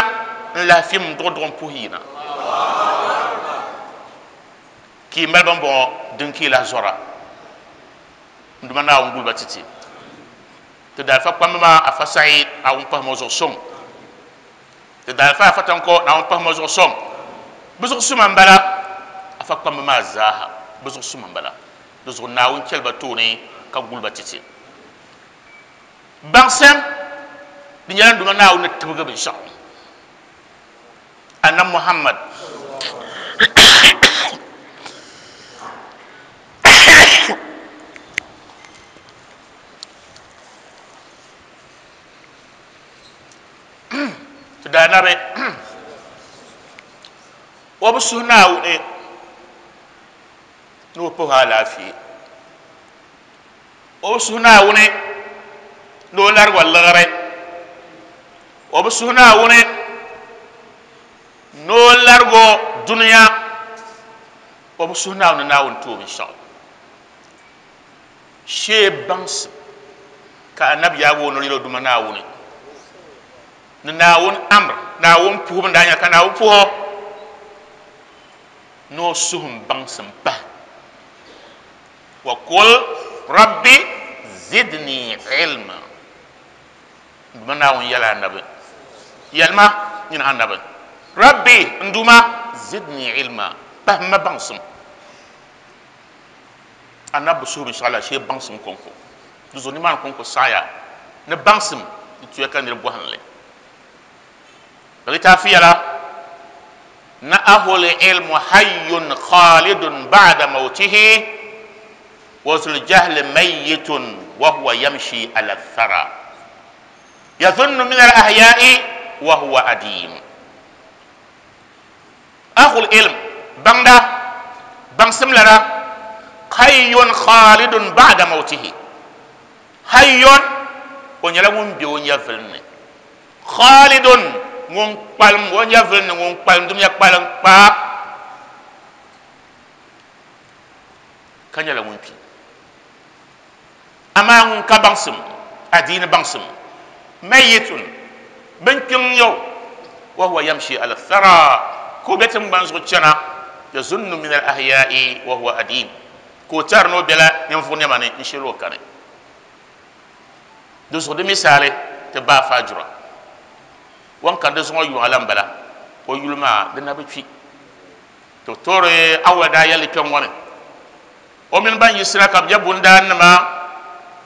n lahi fim n duɣi duɣi m puhi yina. Ka yi mali bɛmbɔŋɔ din ka yi lahi zɔra n Duuma Naawuni guli ba ti ti. Ti daalifa kpamba maa Afa Saeed, Naawuni pahim o zuɣu suŋ. Ti daalifa Afa Tanko, Naawuni pahim o zuɣu suŋ. Bɛ zuɣu suma m-bala, Afa kpamba maa zaaha bɛ zuɣu suma m-bala. Di zuɣu Naawuni chɛli ba tooni ka guli ba ti ti. Baŋsim, di nyɛla n Duuma Naawuni ni tibigi binshɛɣu. Annabi Muhammad ti daa nabi o bi suhi Naawuni ni o pahi o alaafee o bi suhi Naawuni ni o larigi o liɣiri o bi suhi Naawuni ni o larigi o dunia o bi suhi Naawuni ni Naawuni ti o binshɛɣu shee baŋsim ka anabi yaagi o noli yɛli o Duuma Naawuni ni Naawuni amr Naawuni puhibu n daa nyɛla ka Naawuni puhi o ni o suhum baŋsim pahi wa kul rabbi zidni ilma n Duuma Naawuni yɛli anabi yɛlima nyini anabi rabbi n Duuma zidni ilma pahim ma baŋsim anabi bi suhi binshɛɣu la shee baŋsim kɔŋko di zuɣu nimaani kɔŋko saɣaya ni baŋsim di tuya ka niri bɔhim li. Litaafi yɛla ni ahul ilmu hayyun khalidun ba'da mawtihi wa zul jahli mayyitun wa huwa yamshi ala thara yadhunnu min al ahya'i wa huwa adim. Ahul ilm baŋda baŋsim lana hayyun khalidun ba'da mawtihi. Hayyun o nyɛla ŋun be o nyɛvili ni, khalidun ŋun kpalim o nyɛvili ni, ŋun kpalim dunia kpalim kpaa ka nyɛla ŋun kpi. Amaa ŋun ka baŋsim, adiini baŋsim, mayitun bin kpiŋ yo, wa huwa yamshi ala thara, ka o be tiŋgbani zuɣu chana, yazunnu min al ahya'i wa huwa adim, ka o tɛri ni o bela ninvuɣu nɛma ni n shiri o kani. Di zuɣu di misali ti baa faajura wan ka di zuŋɔ yuŋa la n bala, o yuli maa di na bi kpi. To toori awal daa yɛli kpɛŋ ŋɔ ni o mini ban yiɣisira ka bi nyɛ bundaannima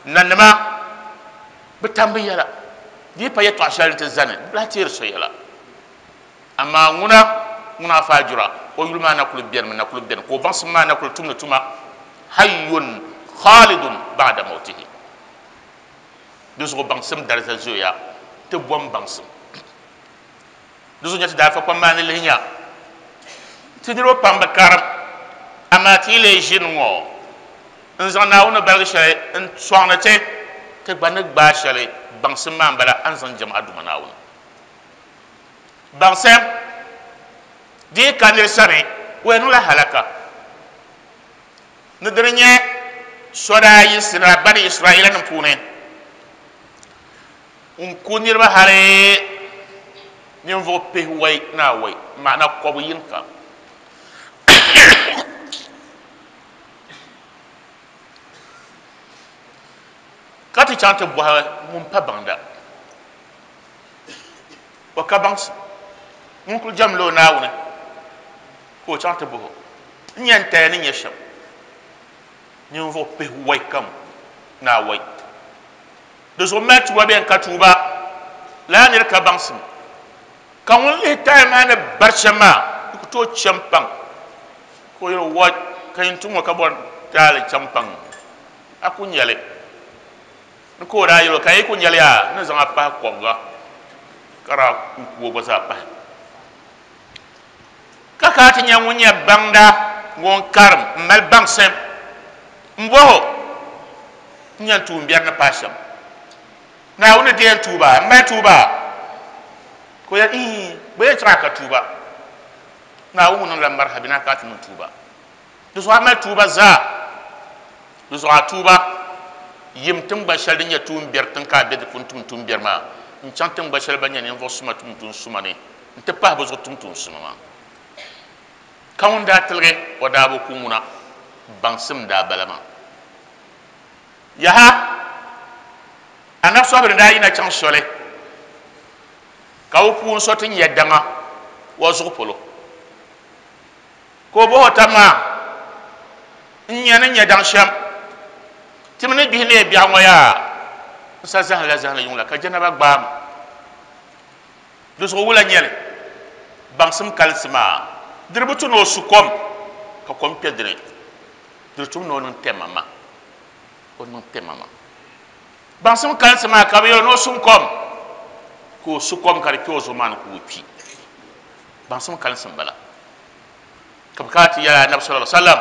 nanima bi tam bi yɛla, di yi pa yɛltɔɣa shɛli ni ti zani bi lahi teeri so yɛla. Amaa ŋuna ŋuna faajura o yuli maa na kuli bɛnimi, na kuli bɛni ka o baŋsim maa na kuli tumdi tuma hayyun khalidun ba'da mawtihi. Di zuɣu baŋsim dariza zooya ti bom baŋsim. Di zuɣu nyɛ ti daalifa kpam maa ni lihi nya ti niriba pam bi karim, amaa ti yi lee ʒini ŋɔ n zaŋ Naawuni ni baligi shɛli n sɔŋdi ti, ti gba ni gbaai shɛli baŋsim maa m-bala a ni zaŋ jɛm a Duuma Naawuni. Baŋsim di yi ka nir sani, o yɛn niŋla halaka. Ni dini nyɛ so daa yiɣisila Bani Israaila nim puuni n-ku niriba hali ninvuɣ pihiwɔi ni awɔi, maana kɔbu yiŋka. Ka ti chaŋ ti bɔhi ŋun pa baŋda, o ka baŋsim, ŋun kul jɛmla o Naawuni, ka o chaŋ ti bɔh o, N nya n taya ni nyɛ shɛm? Ninvuɣ pihiwɔi kam ni awɔi. Di zuɣu mali tuuba bee n-ka tuuba, lala nir ka baŋsim. Ka ŋun lihi taya maa ni bari shɛm maa, di ku tooi chɛ m-paŋ. Ka o yɛli o, Wɔ, ka yin tum ŋɔ ka bɔri taali chɛ m-paŋ, a ku nya li. Ni ka o daa yɛl o, Ka yi ku nya li yaa, n ni zaŋ a pahi kɔbiga, ka daa ku o gba zaa pahi. Ka ka a ti nya ŋun nyɛ baŋda ŋun karim m-mali baŋsim m-bɔh o, N nya n tuumbiɛri ni paai shɛm? Naawuni ni deei n tuuba? M mali tuuba? Ka o yɛli, Iin, bɛ yɛn chaŋ a ka tuuba. Naawuni ŋun niŋdila marihabi ni a ka a ti niŋ tuuba. Di zuɣu a mali tuuba zaa. Di zuɣu a tuuba yim tiŋgban shɛli din nyɛ tuumbiɛri tiŋ ka a be di puuni tum tuumbiɛri maa n-chaŋ tiŋgban shɛli ban nyɛ ninvuɣ suma tum tuun suma ni nti pahi bɛ zuɣu tum tuun suma maa. Ka ŋun daa tiligi o daa bi ku ŋuna, baŋsim daa bala maa. Yaha, Anabi Sɔhib ni daa yina chaŋ soli ka o puuni so ti nya daŋa o zuɣu polo, ka o bɔh o tab maa, N nya ni nya daŋ shɛm, ti mi ni gbihi neei biɛɣu ŋɔ yaa? N sa zahimla zahimli yuŋ la ka janaba gbaai ma. Di zuɣu wula nyɛli? Baŋsim kalinsi maa, di di bi tu ni o su kom ka kom kpe di ni. Di di tum ni o niŋ tɛmama. O niŋ tɛmama. Baŋsim kalinsi maa ka bɛ yɛli ni o sum kom, ka o su kom ka di kpe o zuɣu maa ni ka o kpi. Baŋsim kalinsi m-bala. Ka bɛ kana ti yɛli Anabi sallallahu alaihi wasallam,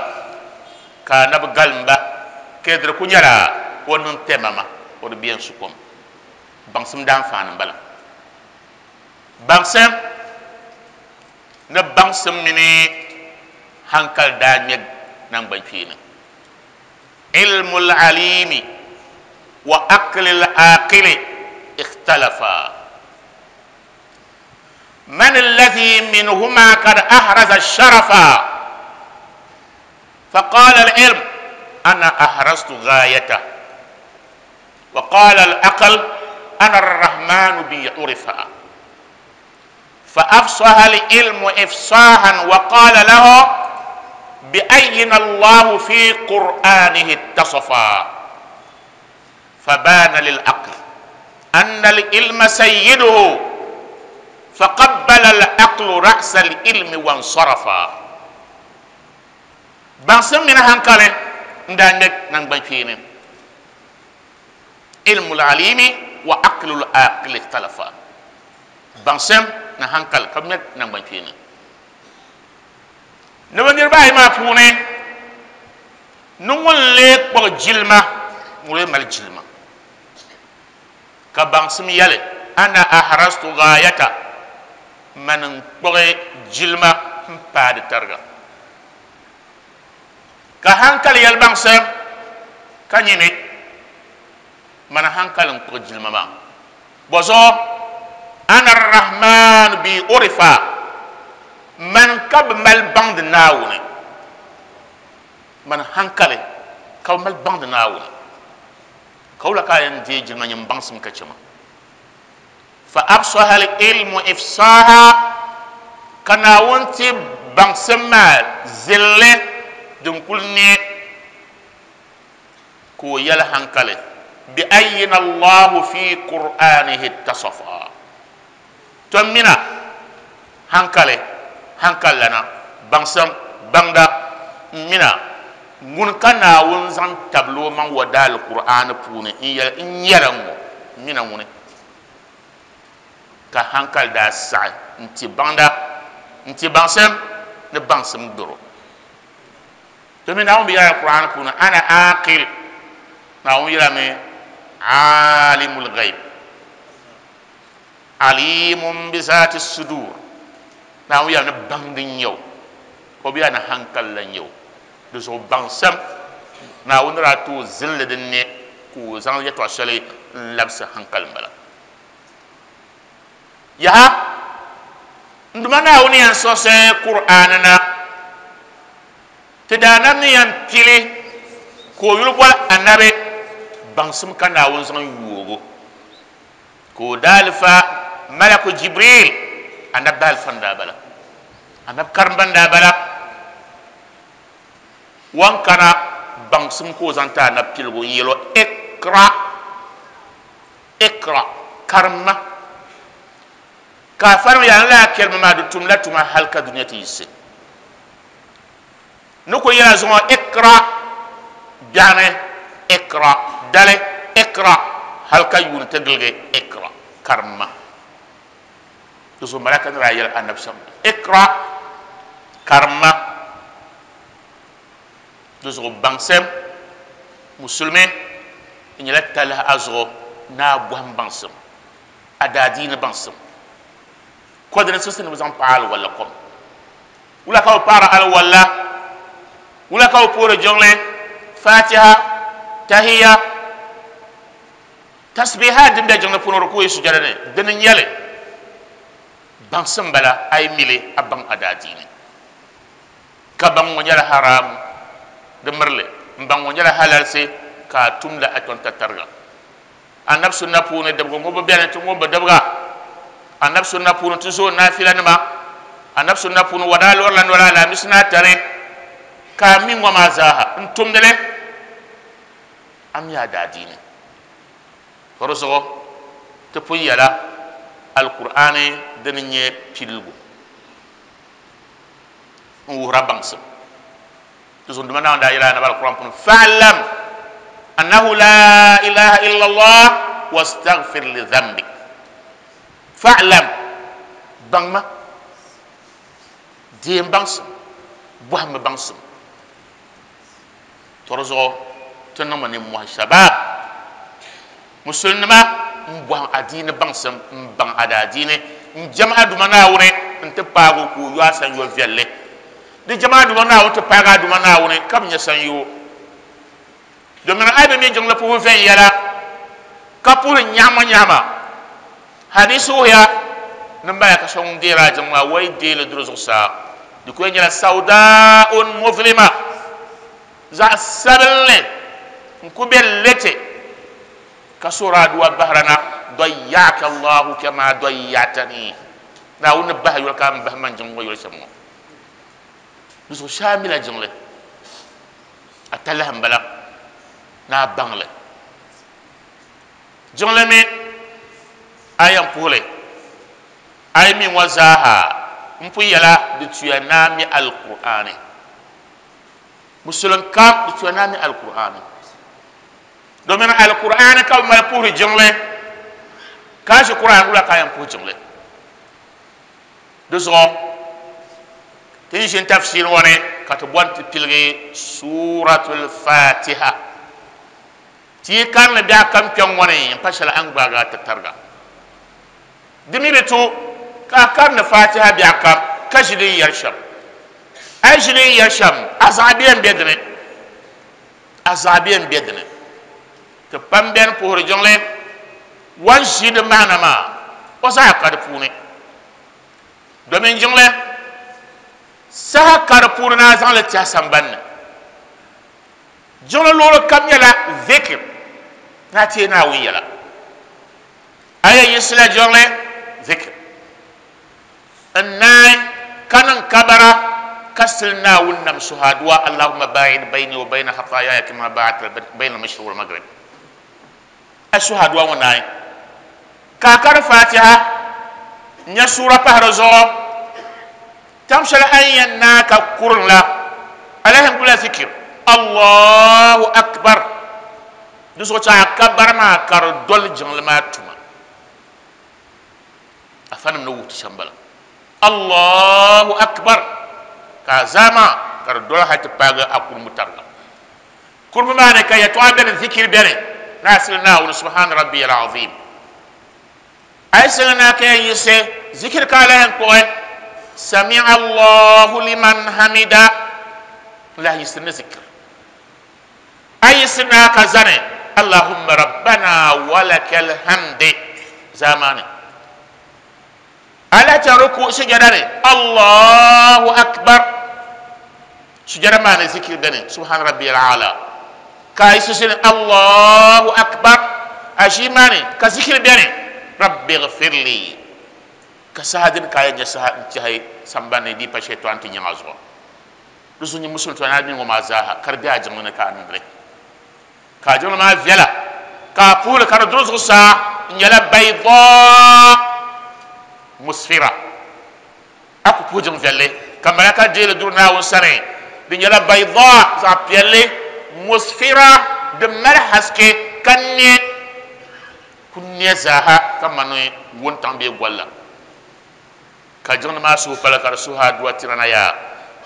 ka Anabi galim ba, ka di di ku nyɛla o niŋ tɛmama, o di bi yɛn su kom. Baŋsim daanfaani m-bala. Baŋsim ni baŋsim mini hankali daa ŋmɛ naŋgbankpeeni. Ilmul alimi wa aqlil aqili ikhtalafa. Man alladhi minhuma kad ahraza sharafa? Faqala al-ilm ana ahraztu ghayata. Wa qala al-aql ana ar-rahmanu bi urifa. فأفصح العلم إفصاحا وقال له بأين الله في قرآنه اتصفا فبان للعقل أن العلم سيده Faqabbala al-aqlu ra'sa al-ilmi wa nsarafa. Baŋsim mini hankali n daa ŋmɛ naŋgban kpeeni. Ilmu al-alimi wa aqlu al-aqili ikhtalafa. Baŋsim ni hankali ka bi ŋmɛ naŋgban kpeeni. Ni bi niriba ayi maa puuni ni ŋun lee kpuɣi jilima, ŋun lee mali jilima. Ka baŋsim yɛli, Ana ahrastu gaayata, mani n-kpuɣi jilima m-paai di tariga. Ka hankali yɛli baŋsim, Ka nyini, mani hankali n-kpuɣi jilima maa. Bɔzuɣu, Ana ar-Rahman bi urifa, mani ka bɛ mali baŋdi Naawuni. Mani hankali ka bɛ mali baŋdi Naawuni. Ka wula ka a yɛn deei jilima nyin baŋsim ka chɛ ma? Fa afsaha al-ilmu ifsaha, ka Naawuni ti baŋsim maa zilli din kuli ne ka o yɛli hankali, bi ayina Allahu fi Qur'anihi ittasafa. To mina hankali, hankali lana, baŋsim, baŋda, m mina ŋuni ka Naawuni zaŋ tabili o maŋ wa daali Qur'ani puuni n yɛli n nyɛla ŋ-ŋɔ, m mina ŋuni ka hankali daa saɣi n-ti baŋda, n-ti baŋsim ni baŋsim doro. Domin Naawuni bi yɛla Qur'ani puuni ana aqil, Naawuni yɛlami alimul ghaib. Alimun bi zaati sudur, Naawuni yɛla ni baŋdi n-nyɛ o, ka o bi yɛla ni hankali la n-nyɛ o. Di zuɣu baŋsim Naawuni ni daa ti o zilli din ne ka o zaŋ yɛtɔɣ shɛli n-labisi hankali m-bala. Yaha! N Duuma Naawuni yɛn siɣisi Kur'aani na ti daanab ni yɛn pili ka o yuli boli Anabi, baŋsim ka Naawuni zaŋ yoog o. Ka o daalifa Malaku Jibril, Anabi daalifa n-daa bala, Anabi karimba n-daa bala, wan kana baŋsim ka o zaŋ ti Anabi piligu n-yɛl o, Iqra, Iqra, karimma. Ka a fariŋ yaa ni lala kalima maa di tumla tuma hali ka dunia ti yiɣisi. Ni ku yɛla zuŋɔ Iqra biɛɣuni, Iqra dali, Iqra hali ka yuuni ti giligi Iqra karimma. Di zuɣu malaka ni daa yɛli Anabi shɛm, Iqra karimma. Di zuɣu baŋsim musulimi di nyɛla talahi a zuɣu ni a bɔhim baŋsim, a daadiini baŋsim. Kɔdiri n-siɣisi ni bɛ zaŋ paɣi alwala kom. Wula ka bɛ paɣiri alwala? Wula ka bɛ puhiri jiŋli? Fatiha, Tahiya, tasbihat din be jiŋli puuni rukuyi sujada ni, dini n-nyɛ li. Baŋsim m-bala, a yi mi li, a baŋ a daadiini. Ka baŋ ŋɔ nyɛla haramu, di miri li, m-baŋ ŋɔ nyɛla halalsi, ka a tum li a kpɛŋtatariga. Anabi sunna puuni dibgu ŋubbu beni ti ŋubbu dibga. Anabi sunna puuni ti zooi naafilanima. Anabi sunna puuni wa daa lɔrila noli Alaamisi ni Atani ka a mi ŋɔ maa zaaha n tumdi li a mi a daadiini. Ka di zuɣu ti pun yɛla Alkur'aani dini n-nyɛ piligu n wuhira baŋsim. Di zuɣu Duuma Naawuni daa yɛli Anabi Alkur'aan puuni, Fa'lam annahu laa ilaha illallah wastaghfir li dhanbik. Fa'lam, baŋma, deem baŋsim, bɔhimmi baŋsim. To di zuɣu ti niŋmi nimmohi shabab musulinima m-bɔhim adiini baŋsim, m-baŋ a daadiini, n-jɛm a Duuma Naawuni nti paagi o ka o yo a sanyo viɛlli. Di jɛm a Duuma Naawuni ti paagi a Duuma Naawuni ka bi nya sanyoo. Domin a yi bi mi jiŋli puhibu viɛnyɛla ka puhiri nyaɣimanyaɣima, hadiisi wuhiya ni malaika so ŋun deeri a jiŋ maa o yi deei li duri zuɣusaa, di ku yɛn nyɛla sawdaa'un muzlima, zaɣ sabinli n-ku be liti ka suhiri aduwa bahira na, Dayya'aka Allahu kama dayya'tani, Naawuni ni bahi yoli ka a ni bahi man jiŋ ŋɔ yoli shɛm ŋɔ. Di zuɣu shee a mila jiŋli, a talahi m-bala ni a baŋ li. Jiŋli mi a yɛn puhi li. Ayi mi ŋɔ zaaha n pun yɛla di tuya naami alkur'ani. Musulin kam di tuya naami alkur'ani. Domin alkur'ani ka bi mali puhiri jiŋli ka ʒi kur'an wula ka yɛn puhi jiŋli. Di zuɣu ti ni ʒini tafsir ŋɔ ni ka ti bɔni ti piligi suratul fatiha. Ti yi karinli biɛɣu kam kpɛŋ ŋɔ ni n pa shɛli a ni gbaagi a ti tariga. Di mi bi tu ka a karindi fatiha biɛɣu kam ka ʒi din yɛri shɛm. A yi ʒi din yɛri shɛm, a zaɣa bɛ yɛn be dini. A zaɣa bɛ yɛn be dini. Ti pam bɛni puhiri jiŋli wan ʒi di maana maa, o zaɣa ka di puuni. Domin jiŋli saha ka di puuni ni a zaŋ li tɛhi sambani ni. Jiŋli luɣili kam nyɛla zikir, ni a teei Naawuni yɛla. A yɛn yiɣisila jiŋli zikir n naai ka niŋ kabara ka sili Naawuni nam suhi aduwa, Allahumma ba'id bayni wa bayna khatayaya kama ba'adta bayna al-mashriq wal maghrib. A suhi aduwa ŋɔ naai ka a kari Fatiha n-nya suura pahi di zuɣu. Tam shɛli a ni yɛn naai ka kurim la, a lahi gbubila zikir, Allahu Akbar. Di zuɣu chɛ a kabara maa ka di doli jiŋli maa tuma. Afanim ni wuhi ti shɛm bala. Allahu Akbar ka a zaa maa ka di doli hali ti paagi a kurumbu tariga. Kurumbu maa ni ka yɛtɔɣa beni, zikiri beni, ni a sili Naawuni Subhana Rabbiyal Azim. A yi siŋi na ka yɛn yiɣisi zikiri ka a lahi kpuɣi Sami'a Allahu liman hamida n lahi yiɣisiri ni zikiri. A yiɣisi na ka zani Allahumma rabbana walakal hamdi zaa maa ni. A lahi chaŋ ruku sujada ni Allahu akbar sujada maa ni zikiri beni subhana rabbiyal aala ka a yiɣisi zini Allahu akbar a ʒii maa ni ka zikiri beni rabbi ghfirli ka saha dini ka a yɛn nyɛ saha n tɛhi sambani ni di pa shɛtɔn ti nyaŋ a zuɣu. Di zuɣu nyɛ musulin tɔ ni a mini ŋɔ maa zaaha ka di be a jiŋli ni ka a niŋdi li. Ka a jiŋli maa viɛla, ka a puhili ka di duri zuɣusaa n-nyɛla baydaa musfira. A ku puhi jiŋ viɛlli ka malaka deei li duri Naawuni sani, di nyɛla baydaa, zaɣ piɛlli, musfira, din mali haske ka ne ku ne zaaha kamani wuntaŋ bee gol la. Ka jiŋli maa suhu pali ka di suhi aduwa tira na yaa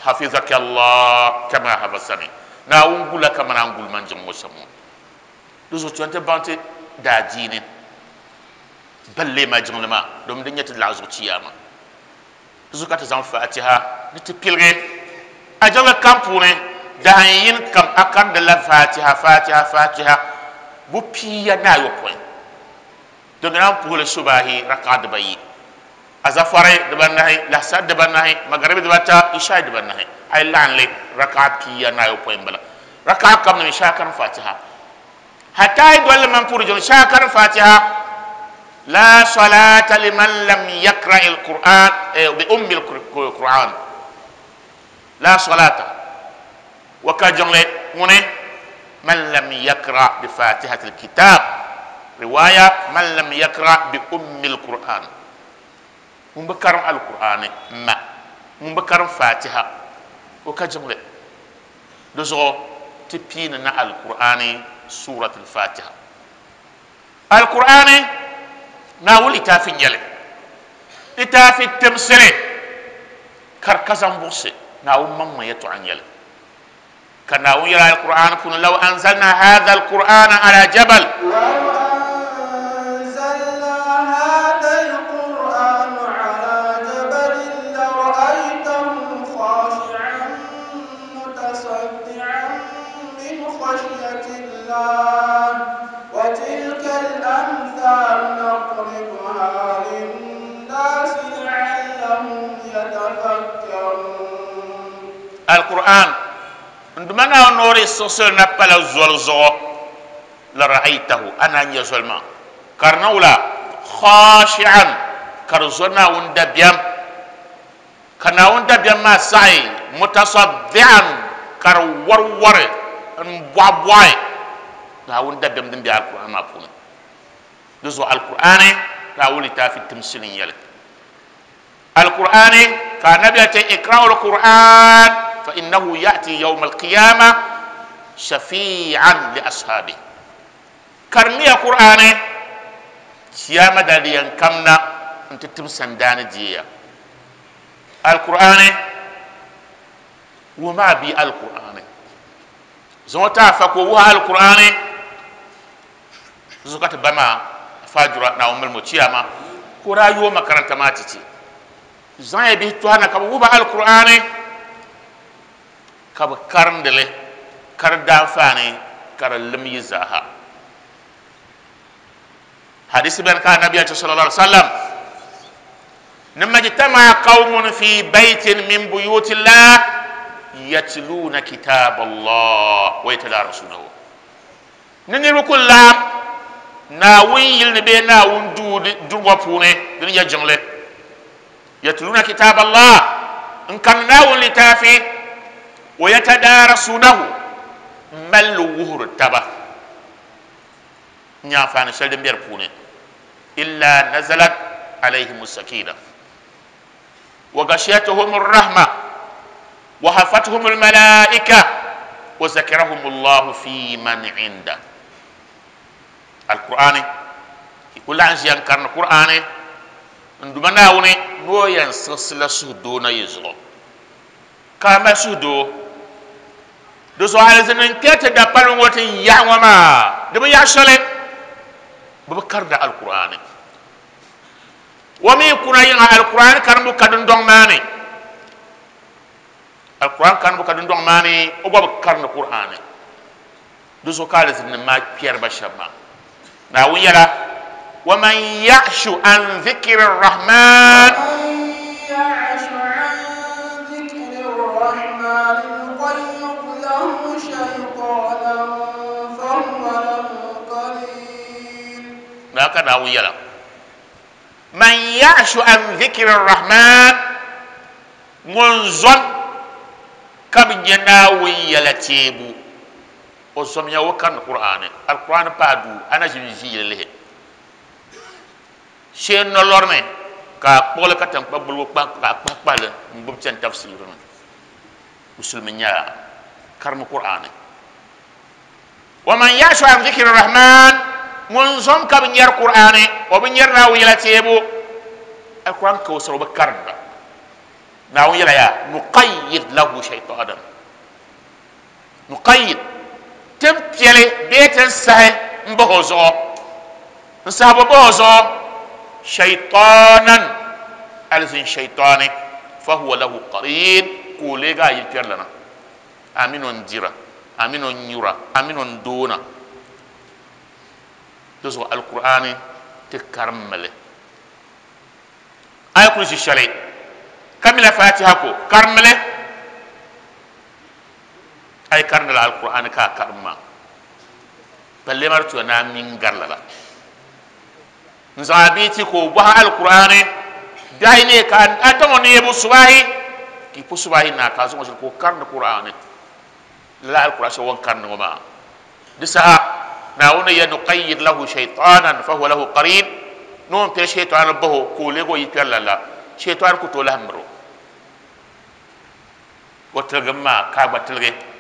hafizaka Allah kama hafaztani, Naawuni gula kamani a ni guli man jiŋ ŋɔ shɛm ŋɔ. Di zuɣu chɛ nti baŋ ti daadiini ballee ma jiŋli maa domin di nyɛ ti laɣi zuɣu chiyaama. Di zuɣu ka ti zaŋ Fatiha ni ti piligi a jiŋli kam puuni dahin yini kam a karindi la Fatiha, Fatiha, Fatiha bu pia ni ayopɔin. Domin a ni puhili subahi raka'a dibayi. Azafari dibanahi, lahasari dibanahi, magaribi dibata, ishai dibanahi. A yi laɣim li raka'a pia ni ayopɔin m-bala. Raka'a kam ni mi shee a karim Fatiha. Hatta a yi doli li mani puhiri jiŋli shee a karim Fatiha. La salata liman lam yakra'i al-Qur'an, bi ummi al-Qur'an. La salata wa ka jiŋli ŋuni man lam yakra bi fatihati al-kitab. Riwaya man lam yakra bi ummi al-Qur'an. Ŋun bi karim al-Qur'ani ma, ŋun bi karim Fatiha o ka jiŋli. Di zuɣu ti piini na al-Qur'ani surat al-Fatiha. Al-Qur'ani Naawuni litaafi n-nyɛ li. Litaafi timsili ka di ka zaŋ buɣisi Naawuni maŋmaŋ yɛtɔɣa n-nyɛ li. Ka Naawuni yɛli Al-Qur'ani puuni, Law anzalna haadha al-Qur'ana ala jabal. Law anzalna haadha al-Qur'ana ala jabalin lara'aytahu khashi'an mutasaddi'an min khashyati Allah wa tilka al-amthal nadribuha lin-nasi la'allahum yatafakkarun. Al-Qur'an n Duuma Naawuni noori siɣisili na pala zoli zuɣu, lara'aytahu, a naan nya zoli maa ka di niŋ wula? Khashi'an, ka di zo Naawuni dabiɛm, ka Naawuni dabiɛm maa saɣi, mutasaddi'an, ka di wariwari n-bɔɣibɔɣi Naawuni dabiɛm din be Al-Qur'an maa puuni. Di zuɣu Al-Qur'ani Naawuni litaafi timsili n-nyɛ li. Alqur'ani ka nabi ta ikra'u alqur'an fa innahu ya'ti yawm alqiyama shafi'an li ashabi. Karmiya qur'ani kiyama daliyan kamna nti tim sandani diya. Alqur'ani wuma bi alqur'ani zota fa ko wa alqur'ani zukata bama fajura na ummul mutiyama ko rayuwa makaranta ma titi zan bi to hana ka wuba alqur'ani ka ba karndele kar da fani kar lim yizaha. Hadisi ben ka nabi sallallahu alaihi wasallam nimma qaumun fi baitin min buyutillah yatluna kitab Allah wa yatadarasunahu. Nini kullam na wun yilni be na wun durwa pune din ya jingle yatluna kitab Allah in kan na wun litafi wa yatadarasunahu mal wuhur taba nya fani shaldin biyar pune illa nazalat alaihim sakina wa ghashiyatuhum ar-rahma wa hafatuhum al-malaika wa zakarahum Allah fi man inda. Alqur'ani kula an ziyan karna qur'ani nduma nawuni no yan silsila suhdo na yizo kama suhdo do so alzinin kete da palin wata yawa ma da ya shale bu karda alqur'ani wa mi kuna yin alqur'ani karmu kadun don mani alqur'an karmu kadun don mani o gwa karna qur'ani do so kala zinin ma kiyar bashamma na wiyara wa man ya'shu an dhikri arrahman ya'shu an dhikri arrahman nuqayyid lahu shaytanan fa huwa lahu qarin. Na ka na wiyara man ya'shu an dhikri arrahman munzon kam nyana wiyala tebu o zomya wo kan qur'ani alquran pa du ana ji le she no lorne ka pole ka tan pagbul pa ka pa pa le mbub cen tafsir no musulmi nya karmu qur'ani wa man yashu an dhikri rahman mun zom ka nyar qur'ani o bi nyar na wila tebu alquran ko so ba karba na wila ya nuqayyid lahu shaytanan nuqayyid tem piele beten sahe mbozo nsabo bozo shaytanan alzin shaytani fa huwa lahu qarin kulega yiterlana aminon dira aminon nyura aminon dona dozo alqur'ani te karmale ay kursi shari kamila fatiha ko karmale ay karnala alquran ka karma balle martu na min garlala nzabi ti ko ba alquran dai ne kan atamo ne bu subahi ki pu subahi na ka zo ko karna qur'an la alquran so won karna ma disa na wona ya nuqayyid lahu shaytanan fa huwa lahu qarin non pe shaytan baho ko lego yitalla shaytan ko to lahmro wotelga ka batelge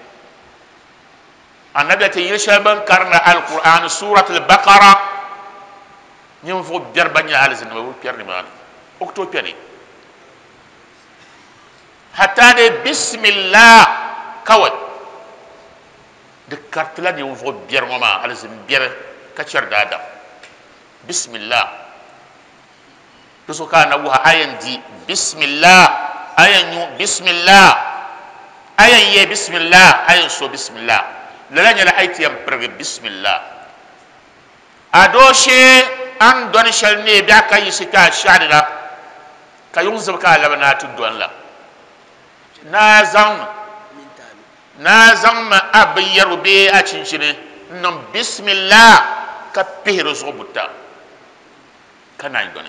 annabi ta yishaban karna alquran suratul baqara nyim fo berbanya alizin wa perni ma okto perni hatta de bismillah kawai de kartla ni fo berma alizin ber ka cer dada bismillah to so kana wa ayan di bismillah ayan yu bismillah ayan ye bismillah ayan so bismillah lala nyala ayti yam prege bismillah adoshe an don shal ne bi aka yisita shadira ka yunzub ka labana tu don la na zang ma abiyaru be a cincine non bismillah ka pihiro zobuta kana don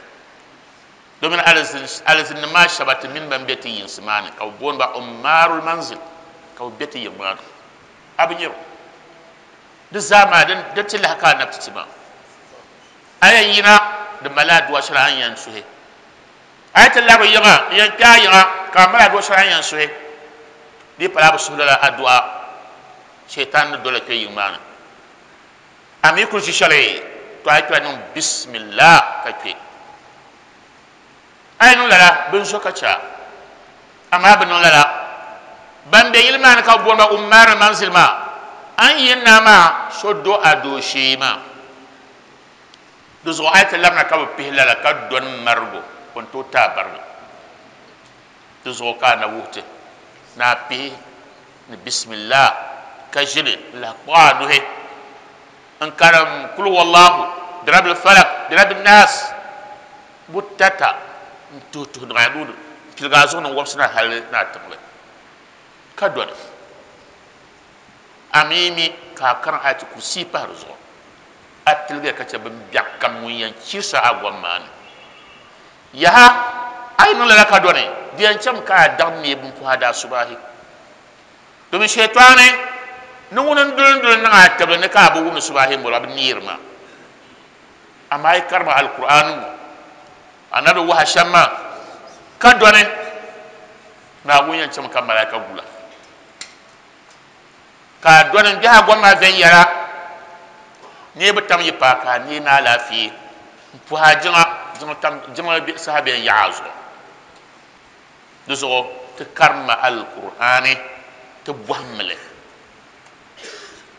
domin alazin ma shabati min ban beti yin simani ka bon ba umarul manzil ka beti yin ma abiyaru duk zama din da tilla haka na titima ayan yina da maladu wa shar'an yan suhe A yi ti labiri yiŋa n yɛn kpe a yiŋa ka a mali adua shɛli a ni yɛn suhi, di yi pala a bi suhi lala adua, shɛitan ni doli kpe yiŋ maa ni. A mi kuli ʒi shɛli, to a yi kpela niŋ bismillah ka kpe. A yi niŋ lala, bɛ ni zo ka chɛ a. Amaa bɛ niŋ lala, ban be yili maa ni ka bɛ booni ba Ummar Manzil maa, a ni yi na maa so do a dooshee maa. Di zuɣu a yi ti labina ka bɛ pihi lala ka dɔni marigu, o ni tooi ti a barina. Di zuɣu ka a na wuhi ti ni a pihi ni bismillah ka ʒili n-lahi kpuɣi a nuhi n-karim kul huwallahu, birabil falak, birabil naas butata n-tuhi tuhi niŋ a nuu ni m-piligi a zuɣu ni n-wabisi na hali ni a tiŋli ka dɔni. A mi mi ka a karim Ayatul Kursi pahi di zuɣu. A tiligiya ka chɛ bimbiɛɣu kam ŋun yɛn chirisi a gom maa ni. Yaha, a yi niŋ lala ka dɔni, di yɛn chɛmi ka a daŋ neei bimpuhi a daasubahi. Domin Shaitaani ni ŋuni n-duli n-duli niŋ a tibili ni ka a bi wumdi subahi m-bɔro, a bi neeri maa. Amaa a yi karim Alkur'aani ŋɔ, Anabi wahi shɛm maa, ka dɔni, Naawuni yɛn chɛmi ka malaika gula. Ka a dɔni n-biɛhi a gom maa viɛnyɛla, neebu tam yi paai ka a neei ni alaafee m-puhi a jiŋa, jiŋ tam, jiŋli bɛ saha bɛn yaɣi a zuɣu. Di zuɣu ti karimma Alkur'aani ti bɔhimmi li.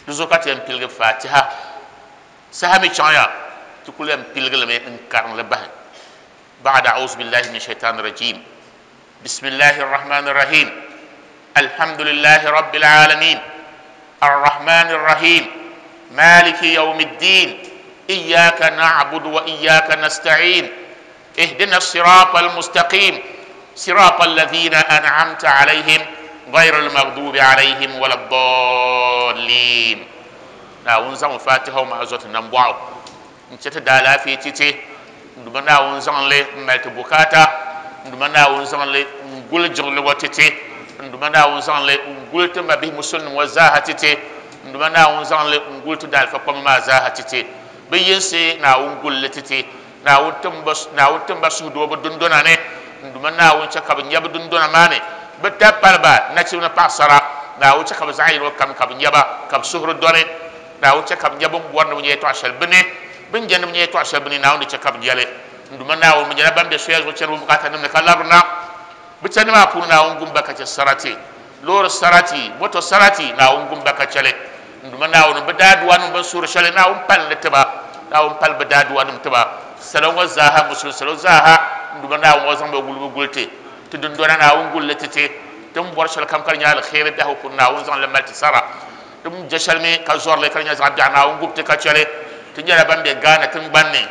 Di zuɣu ka ti yɛn piligi Fatiha. Saha mi chaŋya, ti kuli yɛn piligi li mi n-karim li bahi. Ba'da a'uzu billahi min shaitani rajim. بسم الله الرحمن الرحيم الحمد لله رب العالمين الرحمن الرحيم مالك يوم الدين إياك نعبد وإياك نستعين اهدنا الصراط المستقيم صراط الذين أنعمت عليهم غير المغضوب عليهم ولا الضالين ناون زعم فاتحة وما أزوت نمبعو N chɛ ti daalaafee ti ti, n Duuma Naawuni zaŋ li m-mali ti bukaata, n Duuma Naawuni zaŋ li n-guli jiŋli ŋɔ ti ti, n Duuma Naawuni zaŋ li n-guli ti mabihi musulinim ŋɔ zaaha ti ti, n Duuma Naawuni zaŋ li n-guli ti daalifa kpamba maa zaaha ti ti. Bɛ yinsi Naawuni guli li ti ti. Naawuni tim ba, Naawuni tim ba suhudoo bɛ dundona ni, n Duuma Naawuni chɛ ka bɛ nya bɛ dundona maa ni bɛ tab paliba, nachimba ni paɣisara. Naawuni chɛ ka bɛ zaɣ yino kam ka bɛ nya ba, ka bɛ suhuri dɔni. Naawuni chɛ ka bɛ nya bɛ ni bɔri ni bɛ nya yɛtɔɣ shɛli bɛ ni, bɛ ni je ni bɛ nya yɛtɔɣ shɛli bɛ ni, Naawuni di chɛ ka bɛ nya li. N Duuma Naawuni, bɛ nyɛla ban be soya zuɣu chani bɛ bukaatanim ni ka labirina. Bɛ chandi maa puuni Naawuni gum ba ka chɛ sarati, loori sarati, moto sarati, Naawuni gum ba ka chɛ li. N Duuma Naawuni, bɛ daaduanim bɛ ni suhiri shɛli, Naawuni pali li ti ba. Naawuni pali bɛ daaduanim ti ba. Salo ŋɔ zaaha, Musulin salo zaaha, N Duuma Naawuni, o zaŋ bɛ gulibu guli ti. Ti dundona, Naawuni guli li ti ti. Ti ni bɔri shɛli kam ka di nyɛ aliheri biɛhigu puuni, Naawuni zaŋ li mali ti sara. Ti mi je shɛli mi ka zɔri li ka di nyɛ zaɣ biɛɣu Naawuni gubi ti ka chɛ li. Ti nyɛla ban be Ghana tiŋgbani ni,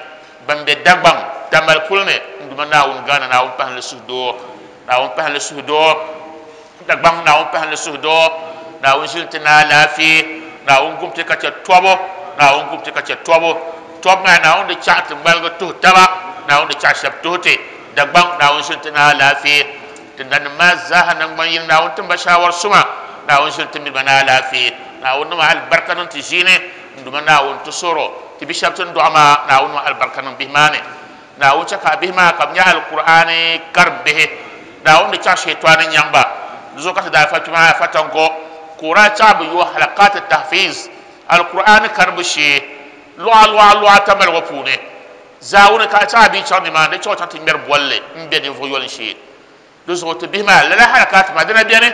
ban be Dagbaŋ, Tamale puli ni. N Duuma Naawuni Ghana Naawuni pahim li suhudoo. Naawuni pahim li suhudoo. Dagbaŋ Naawuni pahim li suhudoo. Naawuni ʒili ti ni alaafee. Naawuni gubi ti ka chɛ tɔbu. Naawuni gubi ti ka chɛ tɔbu. Tɔbu maa Naawuni di chaɣi ti ŋmaligi tuhi taba. Naawuni di chaɣi shɛba tuhi ti. Dagbaŋ Naawuni ʒili ti ni alaafee. Ti nanim maa zaaha naŋgban yini, Naawuni tim ba shaawar suma, Naawuni ʒili ti mini ba ni alaafee, Naawuni niŋ alibarika niŋ ti ʒiini, n Duuma Naawuni ti soro ti bi shɛba ti ni dɔɣi maa, Naawuni niŋ alibarika niŋ bihi maa ni, Naawuni chɛ ka a bihi maa ka bɛ nyɛ Alkur'aani karim bihi, Naawuni di chaɣ shɛitɔni nyaŋ ba, di zuɣu ka ti daa fa kpɛma afa tango ka o daa chaɣ bɛ yo halaqaati tahfiz, Alkur'aani karimbu shee, luɣa luɣa luɣa tamaligu puuni. Zaawuni ka a chaŋ a bia chaŋ nimaani di chaŋ o chaŋ ti ŋmɛri bolli m-be ninvuɣ yoli shee. Di zuɣu ti bihi maa lala halakaati maa dina beni.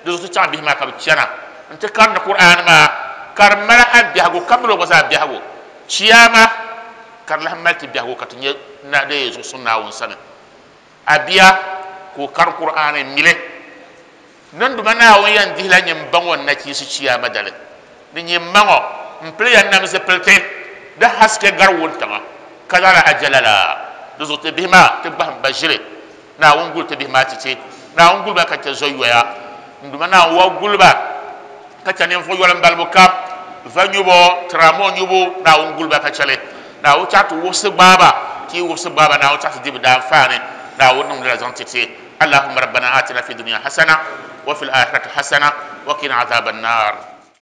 Di zuɣu ti chaŋ bihi maa ka bɛ chana nti karindi Kur'aani maa ka di mali a biɛhigu ka mali o gba zaa biɛhigu. Chiyaama ka di lahi mali ti biɛhigu ka ti nya na di zuɣusuŋ Naawuni sani. A bia ka o kari Kur'aani m-mili Ninduma Naawuni yɛn dihila nyin ba ŋɔ nachiinsi chiyaama dali, ni nyin ma ŋɔ m-pili ya nam zipiliti di haske gari wuntaŋa, ka zaŋla ajala la di zuɣu ti bihi maa ti gbahim ba ʒili. Naawuni guli ti bihi maa ti ti. Naawuni guli ba ka chɛ zoyoya. N Duuma Naawuni wa guli ba ka chɛ ninvuɣ yɔlim balibu kam, va nyubu, tiramoo nyubu, Naawuni guli ba ka chɛ li. Naawuni chaɣ ti wubisi gbaai ba, ti yi wubisi gbaai ba, Naawuni chaɣ ti di bɛ daanfaani. Naawuni niŋm lala zaŋ ti ti. اللهم ربنا آتنا في الدنيا حسنة وفي الآخرة حسنة وقنا عذاب النار.